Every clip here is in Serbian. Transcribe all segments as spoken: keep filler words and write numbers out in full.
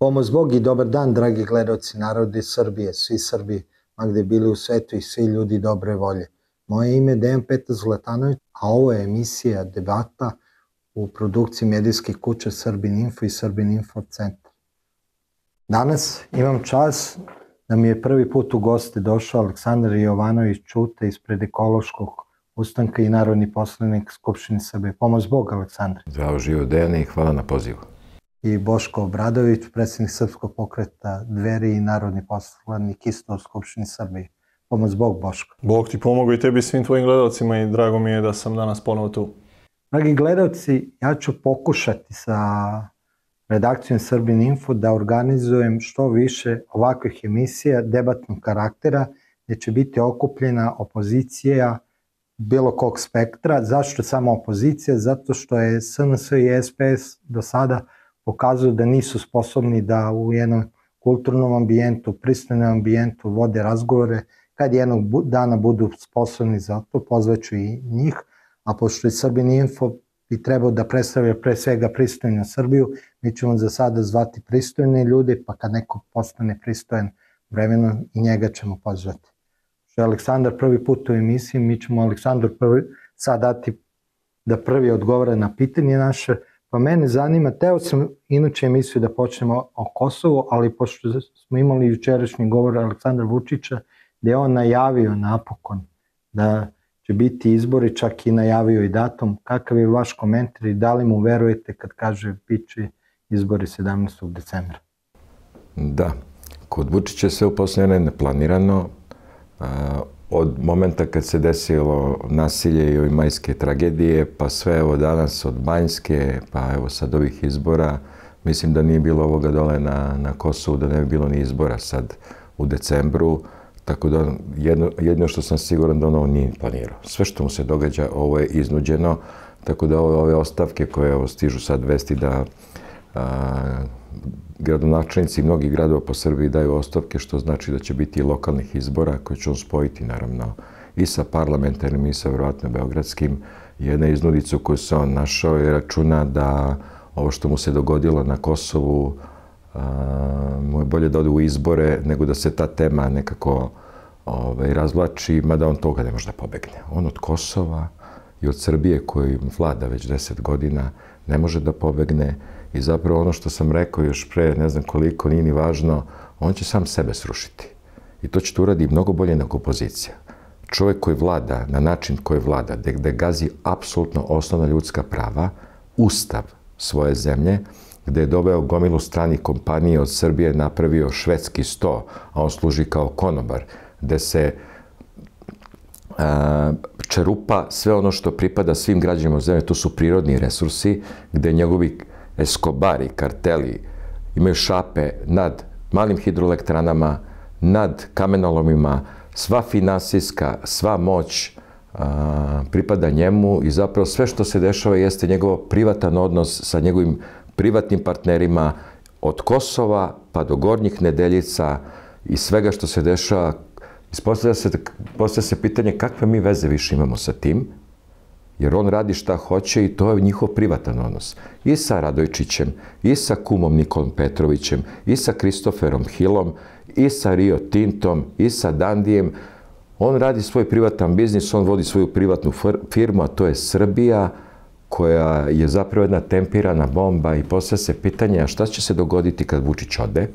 Pomoz Bog i dobar dan, dragi gledalci narodi Srbije, svi Srbi, ma gde bili u svetu i svi ljudi dobre volje. Moje ime je Dejan Petar Zlatanović, a ovo je emisija Debata u produkciji medijskih kuća Srbin Info i Srbin Info centar. Danas imam čast da mi je prvi put u goste došao Aleksandar Jovanović Ćuta ispred Ekološkog ustanka i narodni poslanik Skupštine Srbije. Pomoz Bog, Aleksandar. Zdravo živo, Dejane, i hvala na pozivu. I Boško Obradović, predsjednik Srpskog pokreta Dveri i narodni poslanik isto u Skupštini Srbije. Pomoz Bog, Boško. Bog ti pomogao i tebi svim tvojim gledalcima i drago mi je da sam danas ponovo tu. Dragi gledalci, ja ću pokušati sa redakcijom Srbin Info da organizujem što više ovakvih emisija debatnog karaktera gdje će biti okupljena opozicija bilo kog spektra. Zašto samo opozicija? Zato što je S N S i S P S do sada pokazuju da nisu sposobni da u jednom kulturnom ambijentu, pristojnom ambijentu vode razgovore. Kad jednog dana budu sposobni za to, pozvaću i njih, a pošto je Srbin Info bi trebao da predstavlja pre svega pristojnu Srbiju, mi ćemo za sada zvati pristojne ljude, pa kad neko postane pristojan vremenom i njega ćemo pozvati. Što je Aleksandar prvi put u emisiji, mi ćemo Aleksandru prvi sad dati da prvi odgovara na pitanje naše. Pa mene zanima, teo sam inače emisiju da počnemo o Kosovu, ali pošto smo imali jučerašnji govor Aleksandra Vučića, gde je on najavio napokon da će biti izbori, čak i najavio i datum. Kakav je vaš komentar i da li mu verujete kad kaže bit će izbori sedamnaestog decembra? Da, kod Vučića sve u posljednje neplanirano. Od momenta kad se desilo nasilje i ove majske tragedije, pa sve evo danas od Banjske, pa evo sad ovih izbora, mislim da nije bilo ovoga dole na, na Kosovu, da ne bi bilo ni izbora sad u decembru, tako da jedno, jedno što sam siguran da ono nije planirao. Sve što mu se događa, ovo je iznuđeno, tako da ove, ove ostavke koje evo, stižu sad vesti da a, gradonačelnici mnogih gradova po Srbiji daju ostavke, što znači da će biti i lokalnih izbora koje će on spojiti naravno i sa parlamentarnim i sa vjerovatno beogradskim. Jedna iznudica koju se on našao je računa da ovo što mu se dogodilo na Kosovu a, mu je bolje da ode u izbore nego da se ta tema nekako ovaj, razvlači, mada on toga ne može da pobegne. On od Kosova i od Srbije koji vlada već deset godina ne može da pobegne. I zapravo ono što sam rekao još pre, ne znam koliko, nije ni važno, on će sam sebe srušiti. I to će to uradi mnogo bolje nego opozicija. Čovjek koji vlada na način koji vlada, gde gazi apsolutno osnovna ljudska prava, ustav svoje zemlje, gde je doveo gomilu stranih kompanije od Srbije, napravio švedski sto, a on služi kao konobar, gde se a, čerupa sve ono što pripada svim građanima zemlje, to su prirodni resursi, gde njegovi Eskobari, karteli imaju šape nad malim hidroelektranama, nad kamenolomima, sva finansijska, sva moć a, pripada njemu i zapravo sve što se dešava jeste njegov privatan odnos sa njegovim privatnim partnerima od Kosova pa do Gornjih Nedeljica i svega što se dešava. Postavlja se, postavlja se pitanje kakve mi veze više imamo sa tim, jer on radi šta hoće i to je njihov privatan odnos. I sa Radojčićem, i sa kumom Nikolom Petrovićem, i sa Kristoferom Hillom, i sa Rio Tintom, i sa Dandijem. On radi svoj privatan biznis, on vodi svoju privatnu firmu, a to je Srbija, koja je zapravo jedna tempirana bomba i postavlja se pitanje, a šta će se dogoditi kad Vučić ode?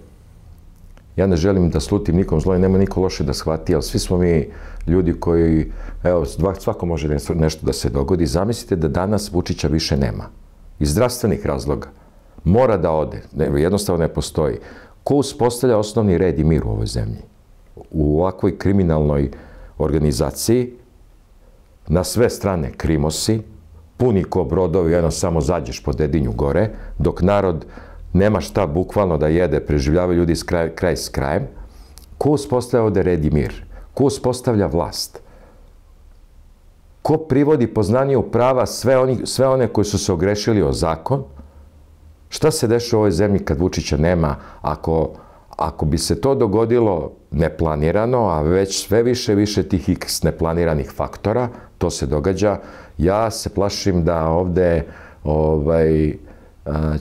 Ja ne želim da slutim nikom zlo i nema niko loše da shvati, ali svi smo mi ljudi koji, evo, svako može nešto da se dogodi. Zamislite da danas Vučića više nema. Iz zdravstvenih razloga. Mora da ode. Jednostavno ne postoji. Ko uspostavlja osnovni red i mir u ovoj zemlji? U ovakvoj kriminalnoj organizaciji, na sve strane krimosi, puni ko brodovi, jedno samo zađeš po Dedinju gore, dok narod nema šta bukvalno da jede, preživljavaju ljudi kraj, kraj s krajem. Ko uspostavlja ovde red i mir? Ko uspostavlja vlast? Ko privodi poznaniju prava sve, oni, sve one koji su se ogrešili o zakon? Šta se dešava u ovoj zemlji kad Vučića nema? Ako, ako bi se to dogodilo neplanirano, a već sve više više tih x neplaniranih faktora, to se događa, ja se plašim da ovde ovaj,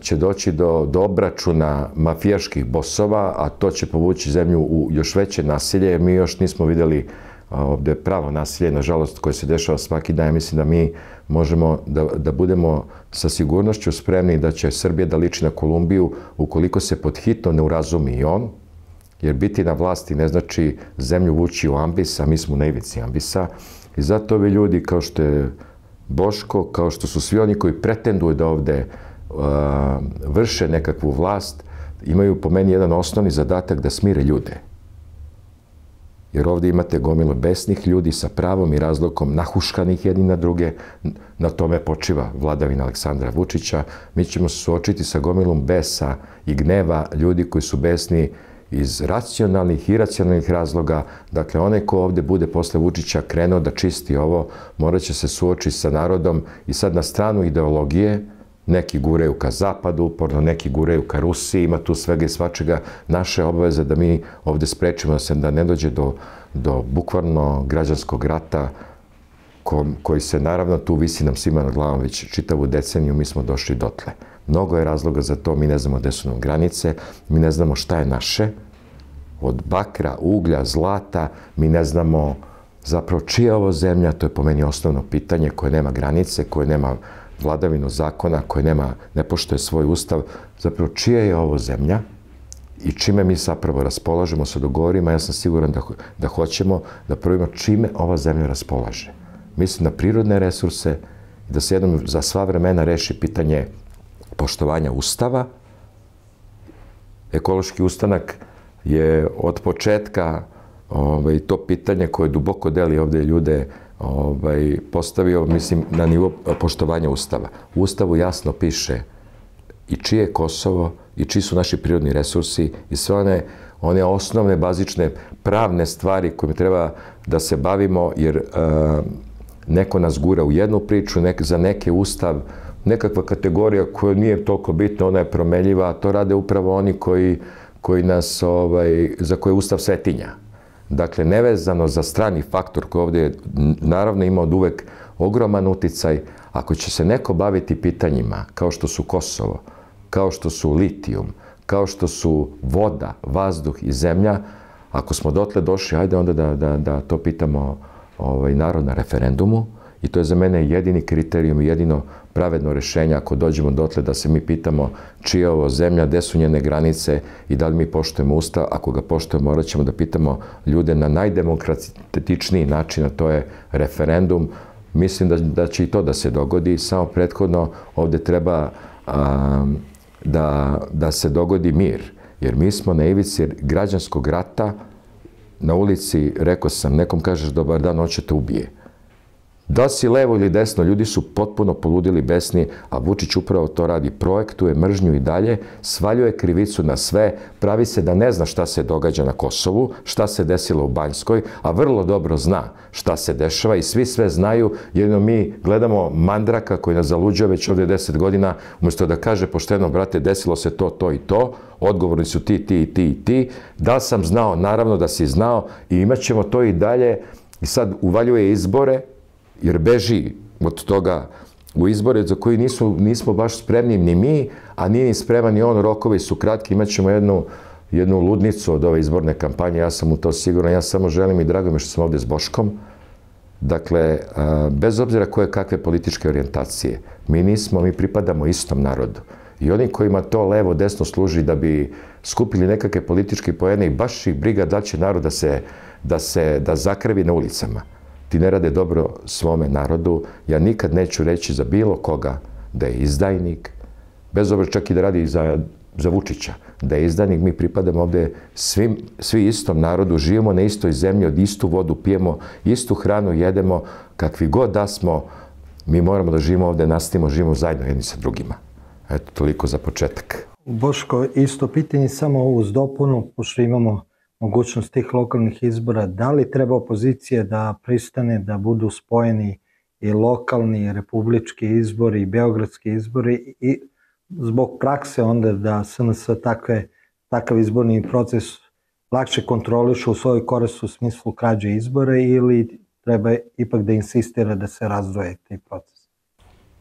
će doći do, do obračuna mafijaških bosova, a to će povući zemlju u još veće nasilje, jer mi još nismo vidjeli ovdje pravo nasilje, nažalost, koje se dešava svaki dan. Mislim da mi možemo da, da budemo sa sigurnošću spremni da će Srbija da liči na Kolumbiju ukoliko se pod hitno ne urazumi i on, jer biti na vlasti ne znači zemlju vući u ambis, a mi smo na ivici ambisa. I zato ovi ljudi kao što je Boško, kao što su svi oni koji pretenduju da ovde uh, vrše nekakvu vlast, imaju po meni jedan osnovni zadatak da smire ljude. Jer ovdje imate gomilu besnih ljudi sa pravom i razlogom nahuškanih jedni na druge. Na tome počiva vladavina Aleksandra Vučića. Mi ćemo se suočiti sa gomilom besa i gneva ljudi koji su besni iz racionalnih i iracionalnih razloga. Dakle, onaj ko ovdje bude posle Vučića krenuo da čisti ovo, morat će se suočiti sa narodom i sad na stranu ideologije, neki gureju ka zapadu, uporno neki gureju ka Rusiji, ima tu svega i svačega. Naše obaveze da mi ovdje sprečimo da se da ne dođe do, do bukvalno građanskog rata ko, koji se naravno tu visi nam svima na glavom već čitavu deceniju, mi smo došli dotle. Mnogo je razloga za to, mi ne znamo gde su nam granice, mi ne znamo šta je naše, od bakra, uglja, zlata, mi ne znamo zapravo čija je ovo zemlja, to je po meni osnovno pitanje koje nema granice, koje nema vladavinu zakona, koje nema, ne poštuje svoj ustav, zapravo čija je ovo zemlja i čime mi zapravo raspolažemo sa dogovorima, ja sam siguran da, da hoćemo da prvimo čime ova zemlja raspolaže. Mislim na prirodne resurse, da se jednom za sva vremena reši pitanje poštovanja ustava. Ekološki ustanak je od početka ovaj, to pitanje koje duboko deli ovdje ljude ovaj, postavio, mislim, na nivo poštovanja ustava. U ustavu jasno piše i čije je Kosovo, i čiji su naši prirodni resursi, i sve one, one osnovne, bazične, pravne stvari kojima treba da se bavimo, jer uh, neko nas gura u jednu priču, nek, za neke ustav, nekakva kategorija koja nije toliko bitna, ona je promenljiva, a to rade upravo oni koji, koji nas, ovaj, za koje ustav svetinja. Dakle, nevezano za strani faktor koji ovdje naravno ima od uvek ogroman uticaj, ako će se neko baviti pitanjima kao što su Kosovo, kao što su litijum, kao što su voda, vazduh i zemlja, ako smo dotle došli, ajde onda da, da, da to pitamo ovaj, narod na referendumu, i to je za mene jedini kriterijum i jedino pravedno rešenje ako dođemo dotle da se mi pitamo čija je ovo zemlja, gde su njene granice i da li mi poštujemo ustav. Ako ga poštujemo, morat ćemo da pitamo ljude na najdemokratičniji način, a to je referendum. Mislim da, da će i to da se dogodi, samo prethodno ovdje treba a, da, da se dogodi mir. Jer mi smo na ivici građanskog rata, na ulici, rekao sam, nekom kažeš dobar dan, on će te ubije. Da si levo ili desno, ljudi su potpuno poludili, besni, a Vučić upravo to radi. Projektuje mržnju i dalje, svaljuje krivicu na sve, pravi se da ne zna šta se događa na Kosovu, šta se desilo u Banjskoj, a vrlo dobro zna šta se dešava i svi sve znaju, jedino mi gledamo mandraka koji nas zaluđuje već ovdje deset godina, umjesto da kaže pošteno, brate, desilo se to, to i to, odgovorni su ti, ti, ti i ti. Da sam znao, naravno da si znao, i imat ćemo to i dalje. I sad uvaljuje izbore, jer beži od toga u izbore za koji nisu, nismo baš spremni ni mi, a nije ni spreman ni on, rokovi su kratki, imat ćemo jednu, jednu ludnicu od ove izborne kampanje, ja sam u to siguran, ja samo želim i drago mi što sam ovdje s Boškom. Dakle, bez obzira koje kakve političke orijentacije, mi nismo, mi pripadamo istom narodu. I oni kojima to levo, desno služi da bi skupili nekakve političke poene i baš ih briga da će narod da se, da se da zakrvi na ulicama. Ti ne rade dobro svome narodu. Ja nikad neću reći za bilo koga da je izdajnik, bez obzira čak i da radi za, za Vučića, da je izdajnik. Mi pripadamo ovdje svim, svi istom narodu, živimo na istoj zemlji, od istu vodu pijemo, istu hranu jedemo, kakvi god da smo, mi moramo da živimo ovdje, nastavimo, živimo zajedno jedni sa drugima. Eto, toliko za početak. Boško, isto pitanje samo uz dopunu, pošto imamo mogućnost tih lokalnih izbora, da li treba opozicija da pristane da budu spojeni i lokalni, i republički izbori, i beogradski izbori, i zbog prakse onda da S N S takve, takav izborni proces lakše kontrolišu u svojoj korist u smislu krađe izbora, ili treba ipak da insistira da se razdvoje taj proces?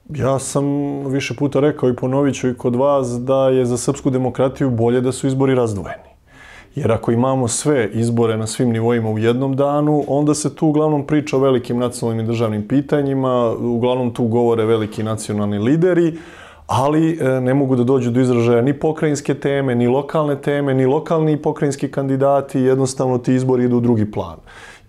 Ja sam više puta rekao i ponovit ću i kod vas da je za srpsku demokratiju bolje da su izbori razdvojeni. Jer ako imamo sve izbore na svim nivoima u jednom danu, onda se tu uglavnom priča o velikim nacionalnim i državnim pitanjima, uglavnom tu govore veliki nacionalni lideri, ali ne mogu da dođu do izražaja ni pokrajinske teme, ni lokalne teme, ni lokalni i pokrajinski kandidati, jednostavno ti izbori idu u drugi plan.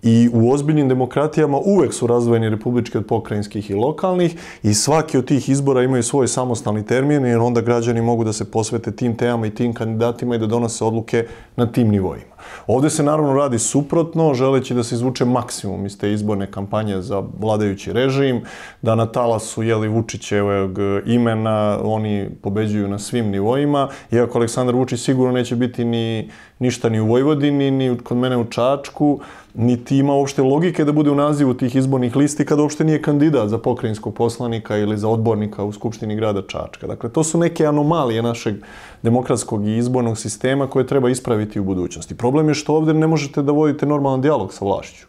I u ozbiljnim demokratijama uvek su razdvojeni republički od pokrajinskih i lokalnih i svaki od tih izbora imaju svoj samostalni termin jer onda građani mogu da se posvete tim temama i tim kandidatima i da donose odluke na tim nivoima. Ovde se naravno radi suprotno, želeći da se izvuče maksimum iz te izborne kampanje za vladajući režim, da na talasu jeli Vučićevog imena oni pobeđuju na svim nivoima, iako Aleksandar Vučić sigurno neće biti ni ništa ni u Vojvodini, ni kod mene u Čačku, niti ima uopšte logike da bude u nazivu tih izbornih listi kada uopšte nije kandidat za pokrajinskog poslanika ili za odbornika u Skupštini grada Čačka. Dakle, to su neke anomalije našeg demokratskog i izbornog sistema koje treba ispraviti u budućnosti. Problem je što ovdje ne možete da vodite normalan dijalog sa vlašću.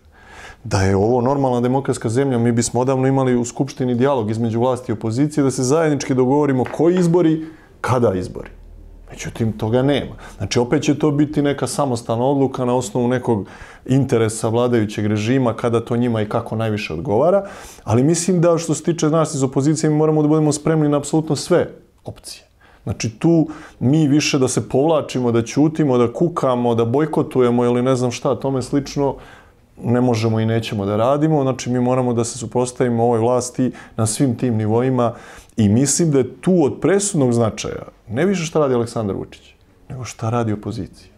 Da je ovo normalna demokratska zemlja, mi bismo odavno imali u Skupštini dijalog između vlasti i opozicije, da se zajednički dogovorimo koji izbori, kada izbori. Međutim, toga nema. Znači, opet će to biti neka samostalna odluka na osnovu nekog interesa vladajućeg režima, kada to njima i kako najviše odgovara, ali mislim da što se tiče nas iz opozicije, mi moramo da budemo spremni na apsolutno sve opcije. Znači, tu mi više da se povlačimo, da ćutimo, da kukamo, da bojkotujemo ili ne znam šta, tome slično, ne možemo i nećemo da radimo. Znači, mi moramo da se suprotstavimo ovoj vlasti na svim tim nivoima i mislim da je tu od presudnog značaja ne više šta radi Aleksandar Vučić, nego šta radi opozicija.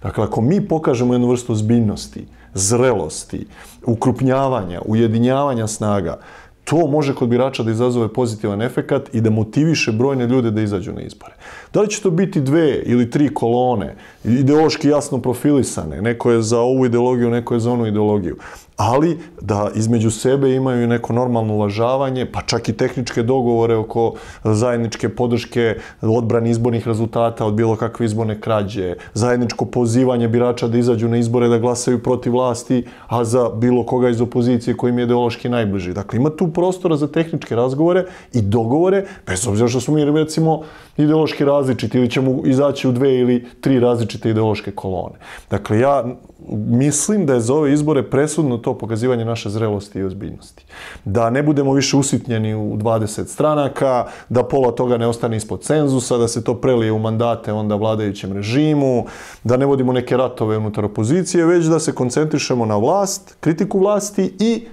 Dakle, ako mi pokažemo jednu vrstu ozbiljnosti, zrelosti, ukrupnjavanja, ujedinjavanja snaga, to može kod birača da izazove pozitivan efekat i da motiviše brojne ljude da izađu na izbore. Da li će to biti dve ili tri kolone, ideološki jasno profilisane, neko je za ovu ideologiju, neko je za onu ideologiju, ali da između sebe imaju neko normalno uvažavanje, pa čak i tehničke dogovore oko zajedničke podrške odbrani izbornih rezultata od bilo kakve izborne krađe, zajedničko pozivanje birača da izađu na izbore, da glasaju protiv vlasti, a za bilo koga iz opozicije kojim je ideološki najbliži. Dakle, ima tu prostora za tehničke razgovore i dogovore, bez obzira što smo mi, recimo, ideološki različiti ili ćemo izaći u dve ili tri različite ideološke kolone. Dakle, ja mislim da je za ove izbore presudno to pokazivanje naše zrelosti i ozbiljnosti. Da ne budemo više usitnjeni u dvadeset stranaka, da pola toga ne ostane ispod cenzusa, da se to prelije u mandate onda vladajućem režimu, da ne vodimo neke ratove unutar opozicije, već da se koncentrišemo na vlast, kritiku vlasti i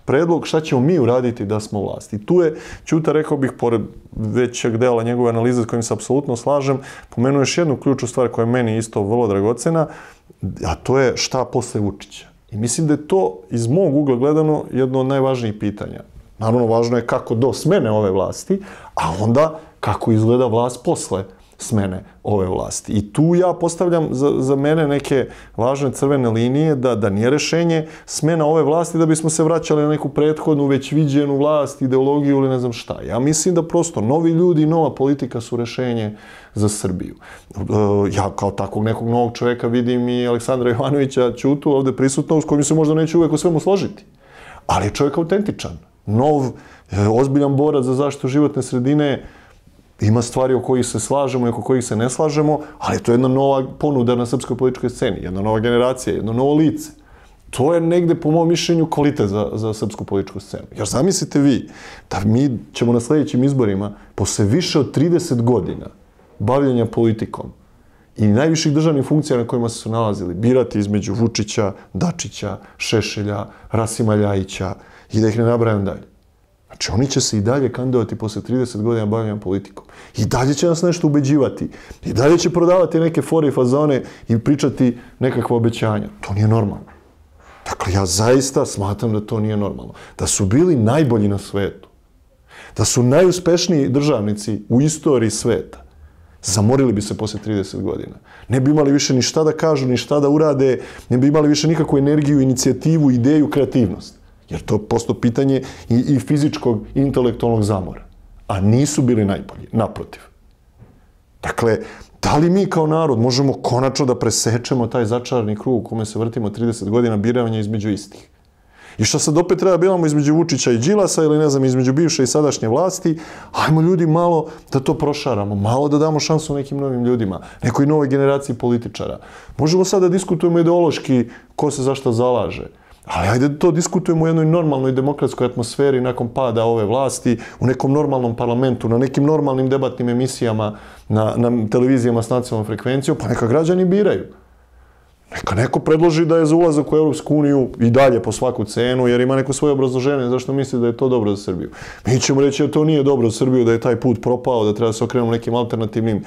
predlog šta ćemo mi uraditi da smo vlasti. I tu je Ćuta, rekao bih, pored većeg dela njegove analize s kojim se apsolutno slažem, pomenuo još jednu ključnu stvar koja je meni isto vrlo dragocena, a to je šta posle Vučića. I mislim da je to iz mog ugla gledano jedno od najvažnijih pitanja. Naravno, važno je kako do smene ove vlasti, a onda kako izgleda vlast posle smene ove vlasti. I tu ja postavljam za, za mene neke važne crvene linije da, da nije rešenje smena ove vlasti da bismo se vraćali na neku prethodnu, već viđenu vlast, ideologiju ili ne znam šta. Ja mislim da prosto novi ljudi i nova politika su rešenje za Srbiju. Ja kao takvog nekog novog čoveka vidim i Aleksandra Jovanovića Ćutu ovde prisutno, s kojim se možda neće uvek o svemu složiti. Ali je čovjek autentičan, nov, ozbiljan borac za zaštitu životne sredine. Ima stvari o kojih se slažemo i oko kojih se ne slažemo, ali to je jedna nova ponuda na srpskoj političkoj sceni, jedna nova generacija, jedno novo lice. To je negde, po mom mišljenju, kvalitet za, za srpsku političku scenu. Jer zamislite vi da mi ćemo na sljedećim izborima, posle više od trideset godina bavljenja politikom i najviših državnih funkcija na kojima su se nalazili, birati između Vučića, Dačića, Šešelja, Rasima Ljajića i da ih ne nabrajam dalje. Znači, oni će se i dalje kandidovati posle trideset godina bavljenja politikom. I dalje će nas nešto ubeđivati. I dalje će prodavati neke fore i fazone i pričati nekakva obećanja. To nije normalno. Dakle, ja zaista smatram da to nije normalno. Da su bili najbolji na svetu. Da su najuspešniji državnici u istoriji sveta. Zamorili bi se posle trideset godina. Ne bi imali više ni šta da kažu, ni šta da urade, ne bi imali više nikakvu energiju, inicijativu, ideju, kreativnost. Jer to je prosto pitanje i, i fizičkog i intelektualnog zamora. A nisu bili najbolji, naprotiv. Dakle, da li mi kao narod možemo konačno da presečemo taj začarani krug u kome se vrtimo trideset godina biranja između istih? I što sad opet treba bilamo između Vučića i Đilasa ili ne znam, između bivše i sadašnje vlasti, ajmo ljudi malo da to prošaramo, malo da damo šansu nekim novim ljudima, nekoj novoj generaciji političara. Možemo sad da diskutujemo ideološki ko se zašto zalaže, ali ajde da to diskutujemo u jednoj normalnoj demokratskoj atmosferi nakon pada ove vlasti, u nekom normalnom parlamentu, na nekim normalnim debatnim emisijama, na, na televizijama s nacionalnom frekvencijom, pa neka građani biraju. Neka neko predloži da je za ulazak u Europsku uniju i dalje po svaku cenu, jer ima neko svoje obrazloženje zašto misli da je to dobro za Srbiju. Mi ćemo reći da to nije dobro za Srbiju, da je taj put propao, da treba da se okrenemo nekim alternativnim e,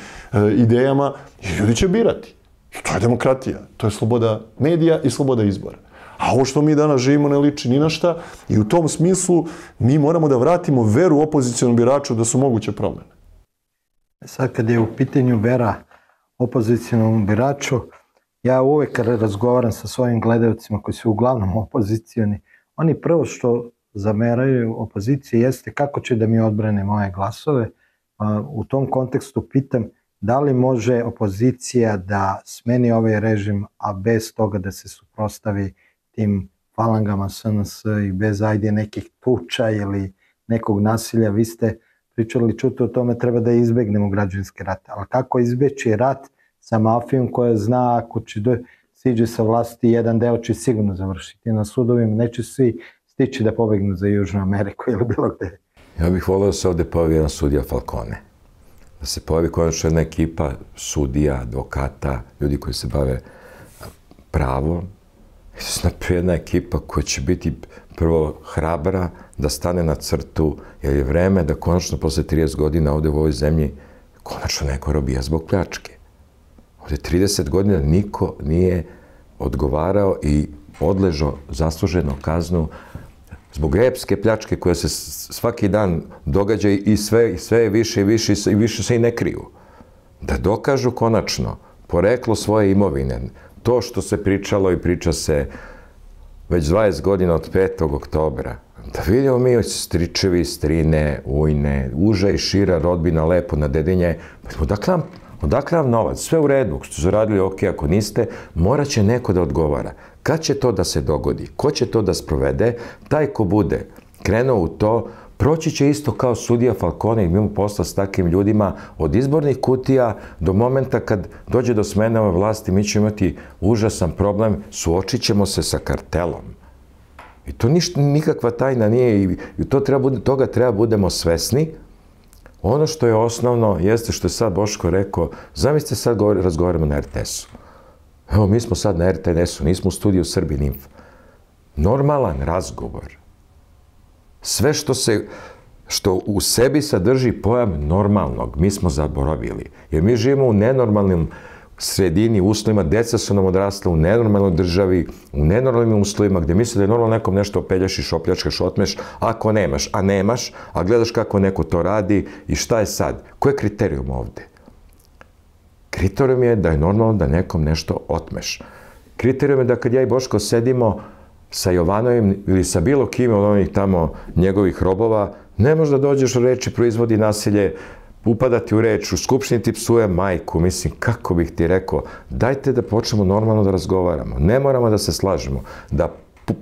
idejama i ljudi će birati. I to je demokratija, to je sloboda medija i sloboda izbora. A ovo što mi danas živimo ne liči ni na šta i u tom smislu mi moramo da vratimo veru opozicionom biraču da su moguće promene. Sad kad je u pitanju vera opozicionom biraču, ja uvek razgovaram sa svojim gledalcima koji su uglavnom opozicioni, oni prvo što zameraju opoziciji jeste kako će da mi odbrane moje glasove. U tom kontekstu pitam da li može opozicija da smeni ovaj režim, a bez toga da se suprotstavi tim falangama S N S i bez ajde nekih tuča ili nekog nasilja. Vi ste pričali čuti o tome treba da izbegnemo građanski rat, ali kako izbeći rat sa mafijom koja zna ako će do, siđe sa vlasti, jedan deo će sigurno završiti na sudovima, neće svi stići da pobegnu za Južnu Ameriku ili bilo gde. Ja bih volio da se ovde pojavi jedan sudija Falcone. Da se pojavi konačno jedna ekipa sudija, advokata, ljudi koji se bave pravom. I da se napravi jedna ekipa koja će biti prvo hrabra da stane na crtu, jer je vreme da konačno posle trideset godina ovde u ovoj zemlji konačno neko robija zbog pljačke. Ovde trideset godina niko nije odgovarao i odležao zasluženu kaznu zbog epske pljačke koja se svaki dan događa i sve, sve je više i više i više se i ne kriju. Da dokažu konačno poreklo svoje imovine, to što se pričalo i priča se već dvadeset godina od petog oktobra, da vidimo mi stričevi, strine, ujne, uža i šira rodbina lepo na Dedinje, odakle nam Odakle nam novac? Sve u redu, ako ste zaradili, ok, ako niste, morat će neko da odgovara. Kad će to da se dogodi? Ko će to da sprovede? Taj ko bude krenuo u to, proći će isto kao sudija Falcone i imamo posla s takvim ljudima od izbornih kutija do momenta kad dođe do smene ove vlasti, mi ćemo imati užasan problem, suočit ćemo se sa kartelom. I to ništa, nikakva tajna nije i to treba, toga treba budemo svesni. Ono što je osnovno jeste što je sad Boško rekao, zamislite sad razgovaramo na R T S-u. Evo, mi smo sad na R T N S-u, nismo u studiju Srbin Info. Normalan razgovor. Sve što se, što u sebi sadrži pojam normalnog, mi smo zaboravili. Jer mi živimo u nenormalnim sredini, uslovima, deca su nam odrasla u nenormalnoj državi, u nenormalnim uslovima, gde misli da je normalno nekom nešto opeljašiš, opljačkaš, otmeš, ako nemaš, a nemaš, a gledaš kako neko to radi i šta je sad? Ko je kriterijum ovde? Kriterijum je da je normalno da nekom nešto otmeš. Kriterijum je da kad ja i Boško sedimo sa Jovanovim ili sa bilo kim od onih tamo njegovih robova, ne možda dođeš u reči proizvodi nasilje, upadati u reč, u skupštini ti psuje majku, mislim, kako bih ti rekao, dajte da počnemo normalno da razgovaramo, ne moramo da se slažemo, da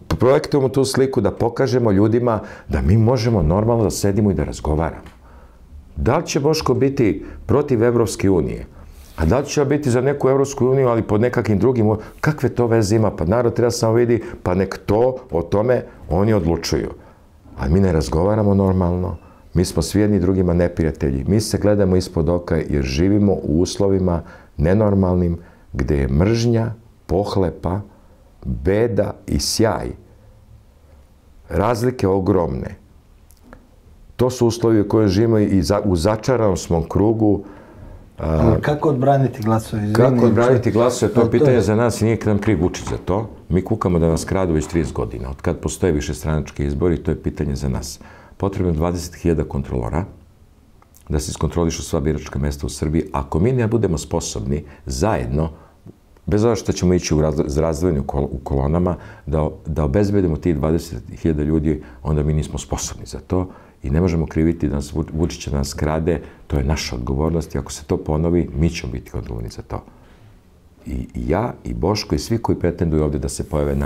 projektujemo tu sliku, da pokažemo ljudima da mi možemo normalno da sedimo i da razgovaramo. Da li će Boško biti protiv Evropske unije? A da li će biti za neku Evropsku uniju, ali pod nekakvim drugim, kakve to veze ima? Pa narod treba samo vidi, pa nek to, o tome oni odlučuju. Ali mi ne razgovaramo normalno, mi smo svi jedni drugima neprijatelji. Mi se gledamo ispod oka jer živimo u uslovima nenormalnim gde je mržnja, pohlepa, beda i sjaj. Razlike ogromne. To su uslovi u kojoj živimo i u začaranom smo krugu. Ali kako odbraniti glasove? Kako odbraniti glasove? To je pitanje za nas i nije nam kriv Vučić za to. Mi kukamo da nas kradu već trideset godina. Od kad postoje više stranački izbori, to je pitanje za nas. Potrebno je dvadeset hiljada kontrolora da se iskontrolišu sva biračka mesta u Srbiji. Ako mi ne budemo sposobni zajedno, bez obzira što ćemo ići u razdvojeni u kolonama, da obezbedimo tih dvadeset hiljada ljudi, onda mi nismo sposobni za to i ne možemo kriviti da nas Vučić da nas krade. To je naša odgovornost i ako se to ponovi, mi ćemo biti odgovorni za to. I ja, i Boško, i svi koji pretenduju ovde da se pojave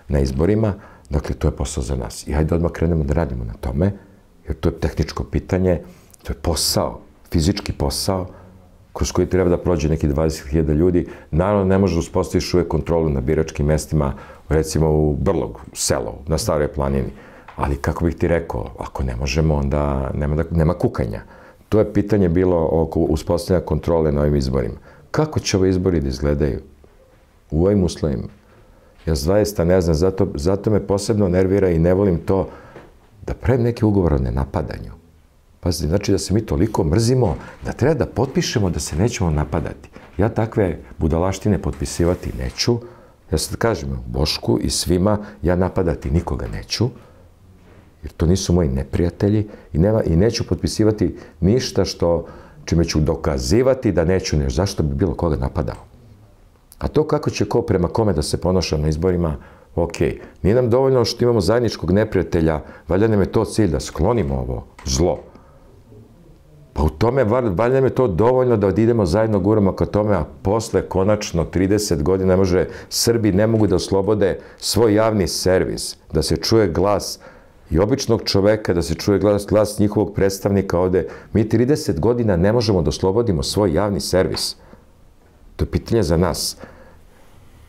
na izborima, Dakle, to je posao za nas. I hajde odmah krenemo da radimo na tome, jer to je tehničko pitanje, to je posao, fizički posao, kroz koji treba da prođe neki dvadeset hiljada ljudi. Naravno, ne može da uspostaviš uvek kontrolu na biračkim mestima, recimo u Brlogu, u selu, na Staroj planini. Ali, kako bih ti rekao, ako ne možemo, onda nema, nema kukanja. To je pitanje bilo oko uspostavljanja kontrole na ovim izborima. Kako će ove izbori da izgledaju u ovim uslovima? Ja zaista ne znam, zato, zato me posebno nervira i ne volim to da pravim neke ugovore o nenapadanju. Pazite, znači da se mi toliko mrzimo da treba da potpišemo da se nećemo napadati. Ja takve budalaštine potpisivati neću. Ja sad kažem Bošku i svima, ja napadati nikoga neću, jer to nisu moji neprijatelji i, nema, i neću potpisivati ništa što, čime ću dokazivati da neću nešto. Zašto bi bilo koga napadao? A to kako će ko prema kome da se ponaša na izborima, ok. Nije nam dovoljno što imamo zajedničkog neprijatelja, valjda nam je to cilj da sklonimo ovo zlo. Pa u tome, valjda nam je to dovoljno da idemo zajedno guramo ka tome, a posle konačno trideset godina ne može, Srbi ne mogu da oslobode svoj javni servis, da se čuje glas i običnog čoveka, da se čuje glas, glas njihovog predstavnika ovde. Mi trideset godina ne možemo da oslobodimo svoj javni servis. To je pitanje za nas.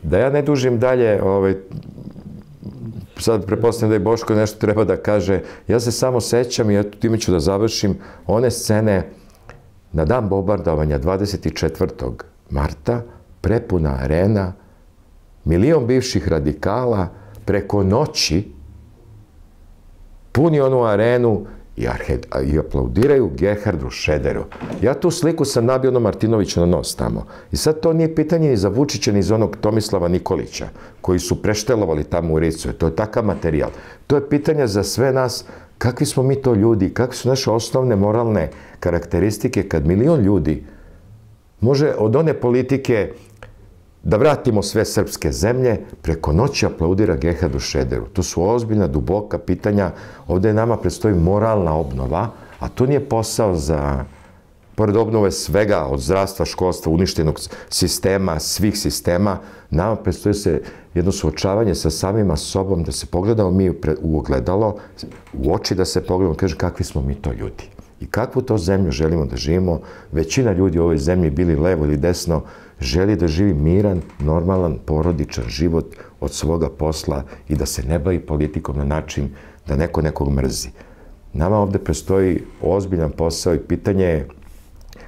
Da ja ne dužim dalje, ovaj, sad prepostavljam da je Boško nešto treba da kaže, ja se samo sećam i eto time ću da završim one scene na dan bombardovanja dvadeset četvrtog marta, prepuna arena, milion bivših radikala, preko noći puni onu arenu i, arhed, i aplaudiraju Gerhardu Šrederu. Ja tu sliku sam nabio ono Martinoviću na nos tamo. I sad to nije pitanje ni za Vučića, ni za onog Tomislava Nikolića, koji su preštelovali tamo u Ricu. To je takav materijal. To je pitanje za sve nas, kakvi smo mi to ljudi, kakve su naše osnovne moralne karakteristike kad milion ljudi može od one politike da vratimo sve srpske zemlje, preko noći aplaudira Gerhardu Šrederu. To su ozbiljna, duboka pitanja. Ovde nama predstoji moralna obnova, a to nije posao za, pored obnove svega, od zdravstva, školstva, uništenog sistema, svih sistema, nama predstoji se jedno suočavanje sa samima sobom, da se pogledamo mi u ogledalo, u oči da se pogledamo, kaže kakvi smo mi to ljudi. I kakvu to zemlju želimo da živimo. Većina ljudi u ovoj zemlji, bili levo ili desno, želi da živi miran, normalan, porodičan život od svoga posla i da se ne bavi politikom na način da neko nekog mrzi. Nama ovde prestoji ozbiljan posao i pitanje je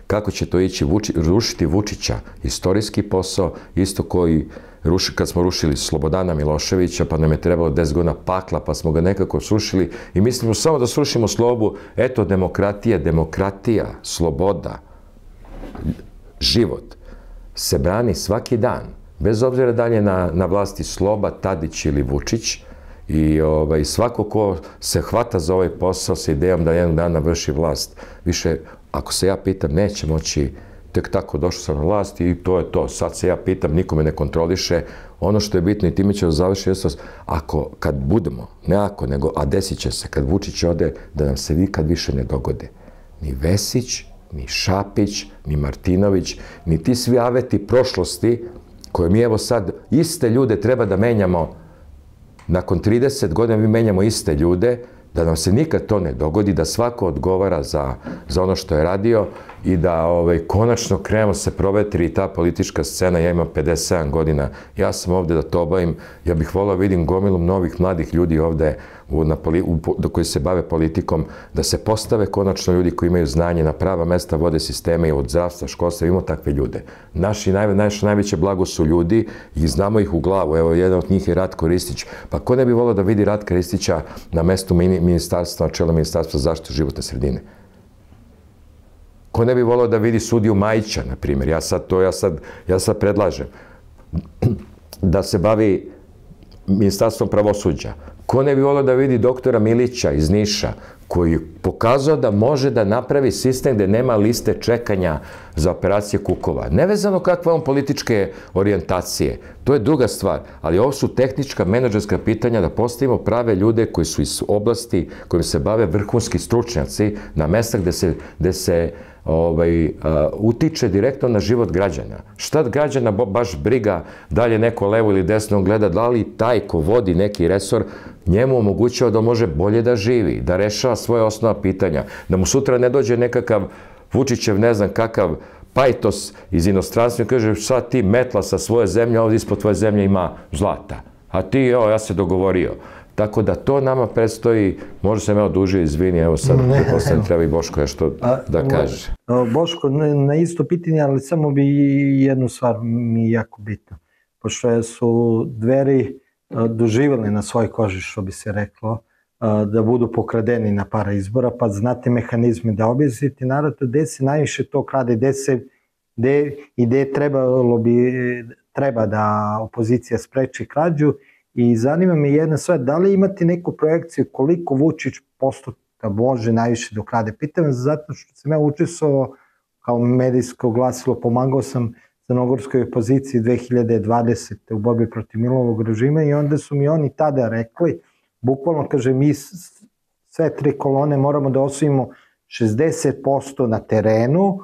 kako će to ići Vuči, rušiti Vučića. Istorijski posao, isto koji ruši, kad smo rušili Slobodana Miloševića, pa nam je trebalo deset godina pakla, pa smo ga nekako srušili i mislimo samo da srušimo slobu. Eto, demokratija, demokratija, sloboda, život se brani svaki dan, bez obzira da li je na, na vlasti Sloba, Tadić ili Vučić. I ovaj, svako ko se hvata za ovaj posao sa idejom da jednog dana vrši vlast, više, ako se ja pitam, neće moći, tek tako došao sam na vlast i to je to. Sad se ja pitam, nikome ne kontroliše. Ono što je bitno i time će završiti, ako, kad budemo, ne ako, nego, a desit će se, kad Vučić ode, da nam se nikad više ne dogode. Ni Vesić, ni Šapić, ni Martinović, ni ti svi aveti prošlosti koje mi evo sad iste ljude treba da menjamo. Nakon trideset godina mi menjamo iste ljude, da nam se nikad to ne dogodi, da svako odgovara za, za ono što je radio i da ovaj, konačno krenemo se provetri ta politička scena. Ja imam pedeset sedam godina, ja sam ovde da to obavim, ja bih volao vidim gomilom novih mladih ljudi ovde u, na, u, koji se bave politikom, da se postave konačno ljudi koji imaju znanje na prava mesta, vode sisteme i od zdravstva, školstva, imamo takve ljude. Naši, naj, naše najveće blago su ljudi i znamo ih u glavu. Evo, jedan od njih je Ratko Ristić. Pa ko ne bi volao da vidi Ratka Ristića na mestu ministarstva, na čelu ministarstva zaštite životne sredine? Ko ne bi volao da vidi sudiju Majića, na primjer? Ja sad to, ja sad, ja sad predlažem da se bavi ministarstvom pravosuđa. Ko ne bi volao da vidi doktora Milića iz Niša, koji je pokazao da može da napravi sistem gde nema liste čekanja za operacije kukova. Nevezano kakve on političke orijentacije. To je druga stvar, ali ovo su tehnička, menadžerska pitanja da postavimo prave ljude koji su iz oblasti kojim se bave vrhunski stručnjaci na mesta gde se, gde se ovaj, utiče direktno na život građana. Šta građana baš briga da li je neko levo ili desno gleda, da li taj ko vodi neki resor njemu omogućava da može bolje da živi, da rešava svoje osnovna pitanja, da mu sutra ne dođe nekakav Vučićev, ne znam kakav pajtos iz inostranstva i kaže šta ti metla sa svoje zemlje, ovdje ispod tvoje zemlje ima zlata, a ti, evo, ja se dogovorio. Tako da to nama predstoji, možda sam ja odužio, izvini, evo sad, posle treba i Boško nešto da kaže. Boško, na isto pitanje, ali samo bi jednu stvar mi jako bitno. Pošto su Dveri doživjeli na svoj koži, što bi se reklo, da budu pokradeni na para izbora, pa znate mehanizme da objasniti narod, gde se najviše to krade, gde se, gde i gde trebalo bi, treba da opozicija spreči krađu. I zanima me jedna stvar, da li imate neku projekciju koliko Vučić postotka može najviše da ukrade? Pitam zato što sam ja učestvovao kao medijsko glasilo, pomagao sam crnogorskoj opoziciji dve hiljade dvadesete. u borbi protiv Milovog režima i onda su mi oni tada rekli, bukvalno kaže, mi sve tri kolone moramo da osvojimo šezdeset posto na terenu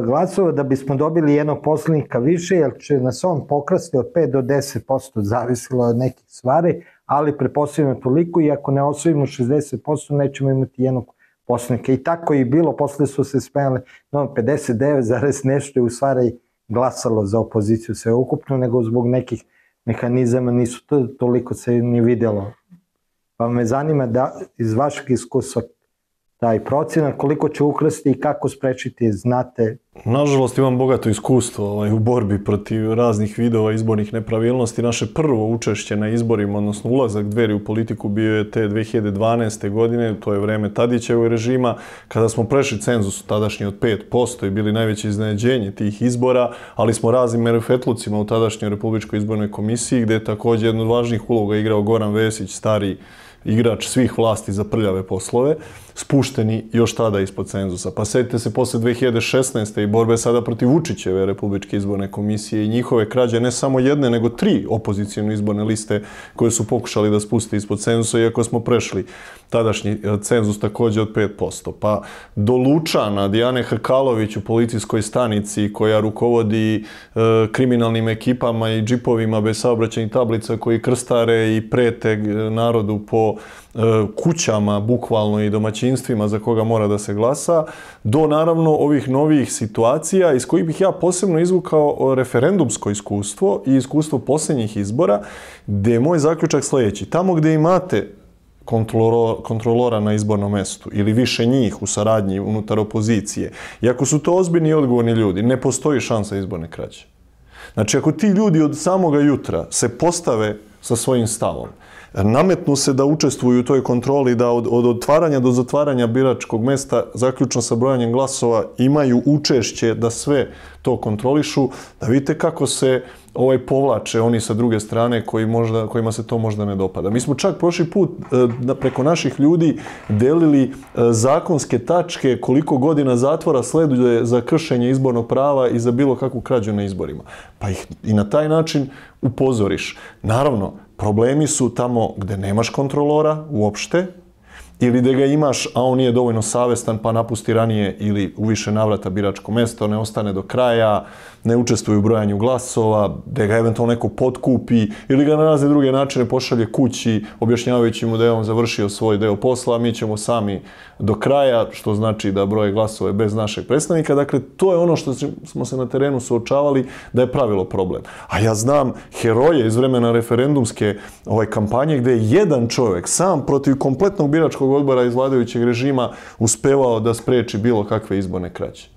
glasova da bismo dobili jednog poslanika više, jer će nas on pokrasti od pet do deset posto, zavisilo od nekih stvari, ali prepostavljamo toliko i ako ne osvojimo šezdeset posto nećemo imati jednog poslanika. I tako je bilo, posle su se smejali, no, pedeset devet zarez nešto je u stvari glasalo za opoziciju sve ukupno, nego zbog nekih mehanizama nisu to, toliko se ni videlo. Pa me zanima da iz vašeg iskustva taj procenat, koliko će ukrasti i kako sprečiti, znate? Nažalost, imam bogato iskustvo ovaj, u borbi protiv raznih vidova izbornih nepravilnosti. Naše prvo učešće na izborima, odnosno ulazak Dveri u politiku bio je te dve hiljade dvanaeste. godine, to je vreme Tadićevog režima, kada smo prešli cenzus tadašnji od pet posto i bili najveće iznenađenje tih izbora, ali smo raznim merifetlucima u tadašnjoj Republičkoj izbornoj komisiji, gde je također jednu od važnijih uloga igrao Goran Vesić, stari igrač svih vlasti za prljave poslove, spušteni još tada ispod cenzusa. Pa setite se posle dve hiljade šesnaeste. i borbe sada protiv Vučićeve Republičke izborne komisije i njihove krađe, ne samo jedne, nego tri opozicijne izborne liste koje su pokušali da spuste ispod cenzusa, iako smo prešli tadašnji cenzus također od pet posto. Pa do Lučana, Dijane Hrkalović u policijskoj stanici koja rukovodi e, kriminalnim ekipama i džipovima bez saobraćajnih tablica koji krstare i prete narodu po kućama, bukvalno i domaćinstvima za koga mora da se glasa, do naravno ovih novih situacija iz kojih bih ja posebno izvukao referendumsko iskustvo i iskustvo posljednjih izbora, gdje je moj zaključak sljedeći. Tamo gdje imate kontrolora na izbornom mestu ili više njih u saradnji unutar opozicije, i ako su to ozbiljni i odgovorni ljudi, ne postoji šansa izborne krađe. Znači, ako ti ljudi od samoga jutra se postave sa svojim stavom, nametnu se da učestvuju u toj kontroli, da od, od otvaranja do zatvaranja biračkog mesta, zaključno sa brojanjem glasova, imaju učešće da sve to kontrolišu, da vidite kako se ovaj povlače oni sa druge strane koji možda, kojima se to možda ne dopada. Mi smo čak prošli put e, preko naših ljudi delili e, zakonske tačke koliko godina zatvora sleduje za kršenje izbornog prava i za bilo kakvu krađu na izborima. Pa ih i na taj način upozoriš. Naravno, problemi su tamo gde nemaš kontrolora uopšte, ili da ga imaš, a on nije dovoljno savestan pa napusti ranije ili u više navrata biračko mesto, ne ostane do kraja, ne učestvuje u brojanju glasova, da ga eventualno neko potkupi ili ga na razne druge načine pošalje kući objašnjavajući mu da je on završio svoj deo posla, a mi ćemo sami do kraja, što znači da broje glasove bez našeg predstavnika. Dakle, to je ono što smo se na terenu suočavali da je pravilo problem. A ja znam heroje iz vremena referendumske ovaj, kampanje gde je jedan čovjek sam protiv kompletnog biračkog odbora iz vladajućeg režima uspevao da spreči bilo kakve izborne krađe.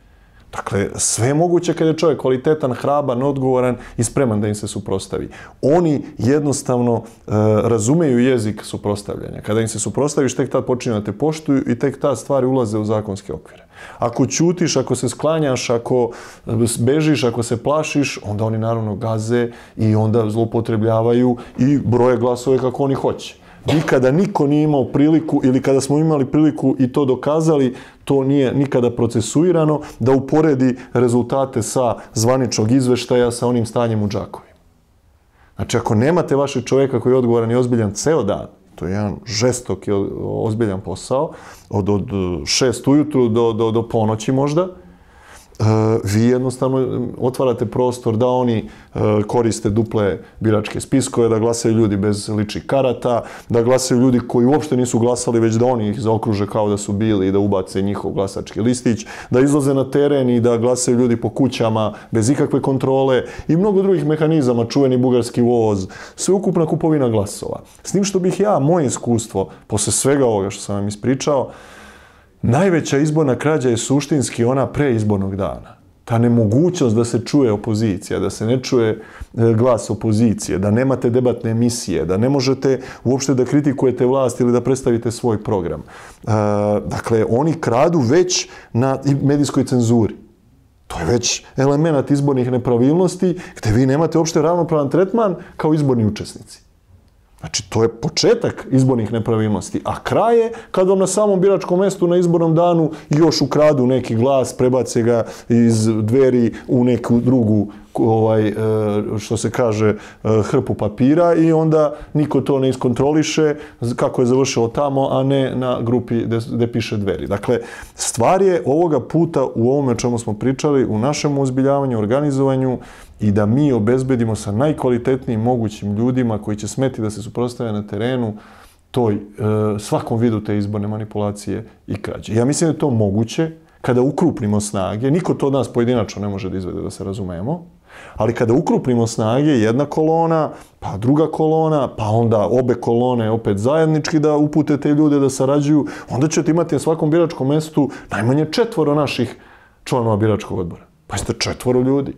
Dakle, sve je moguće kada je čovjek kvalitetan, hraban, odgovoran i spreman da im se suprotstavi. Oni jednostavno e, razumeju jezik suprotstavljanja. Kada im se suprotstaviš, tek tad počinju da te poštuju i tek tad stvari ulaze u zakonske okvire. Ako ćutiš, ako se sklanjaš, ako bežiš, ako se plašiš, onda oni naravno gaze i onda zloupotrebljavaju i broje glasove kako oni hoće. Nikada niko nije imao priliku, ili kada smo imali priliku i to dokazali, to nije nikada procesuirano, da uporedi rezultate sa zvaničnog izveštaja sa onim stanjem u džakovima. Znači, ako nemate vašeg čovjeka koji je odgovoran i ozbiljan ceo dan, To je jedan žestok i ozbiljan posao, od, od šest ujutru do, do, do ponoći možda. Vi jednostavno otvarate prostor da oni koriste duple biračke spiskove, da glasaju ljudi bez ličnih karata, da glasaju ljudi koji uopšte nisu glasali, već da oni ih zaokruže kao da su bili i da ubace njihov glasački listić, da izlaze na teren i da glasaju ljudi po kućama bez ikakve kontrole i mnogo drugih mehanizama, čuveni bugarski voz, sveukupna kupovina glasova. S tim što bih ja, moje iskustvo, posle svega ovoga što sam vam ispričao, najveća izborna krađa je suštinski ona pre izbornog dana. Ta nemogućnost da se čuje opozicija, da se ne čuje glas opozicije, da nemate debatne emisije, da ne možete uopšte da kritikujete vlast ili da predstavite svoj program. Dakle, oni kradu već na medijskoj cenzuri. To je već element izbornih nepravilnosti gde vi nemate uopšte ravnopravan tretman kao izborni učesnici. Znači, to je početak izbornih nepravilnosti, a kraj je kad vam na samom biračkom mestu na izbornom danu još ukradu neki glas, prebace ga iz Dveri u neku drugu, ovaj, što se kaže, hrpu papira i onda niko to ne iskontroliše kako je završilo tamo, a ne na grupi gde piše Dveri. Dakle, stvar je ovoga puta u ovome o čemu smo pričali, u našem ozbiljavanju, organizovanju, i da mi obezbedimo sa najkvalitetnijim mogućim ljudima koji će smeti da se suprotstave na terenu toj, svakom vidu te izborne manipulacije i krađe. Ja mislim da je to moguće kada ukrupnimo snage. Niko to od nas pojedinačno ne može da izvede, da se razumemo. Ali kada ukrupnimo snage, jedna kolona, pa druga kolona, pa onda obe kolone opet zajednički da upute te ljude da sarađuju, onda ćete imati na svakom biračkom mestu najmanje četvoro naših članova biračkog odbora. Pa jeste četvoro ljudi.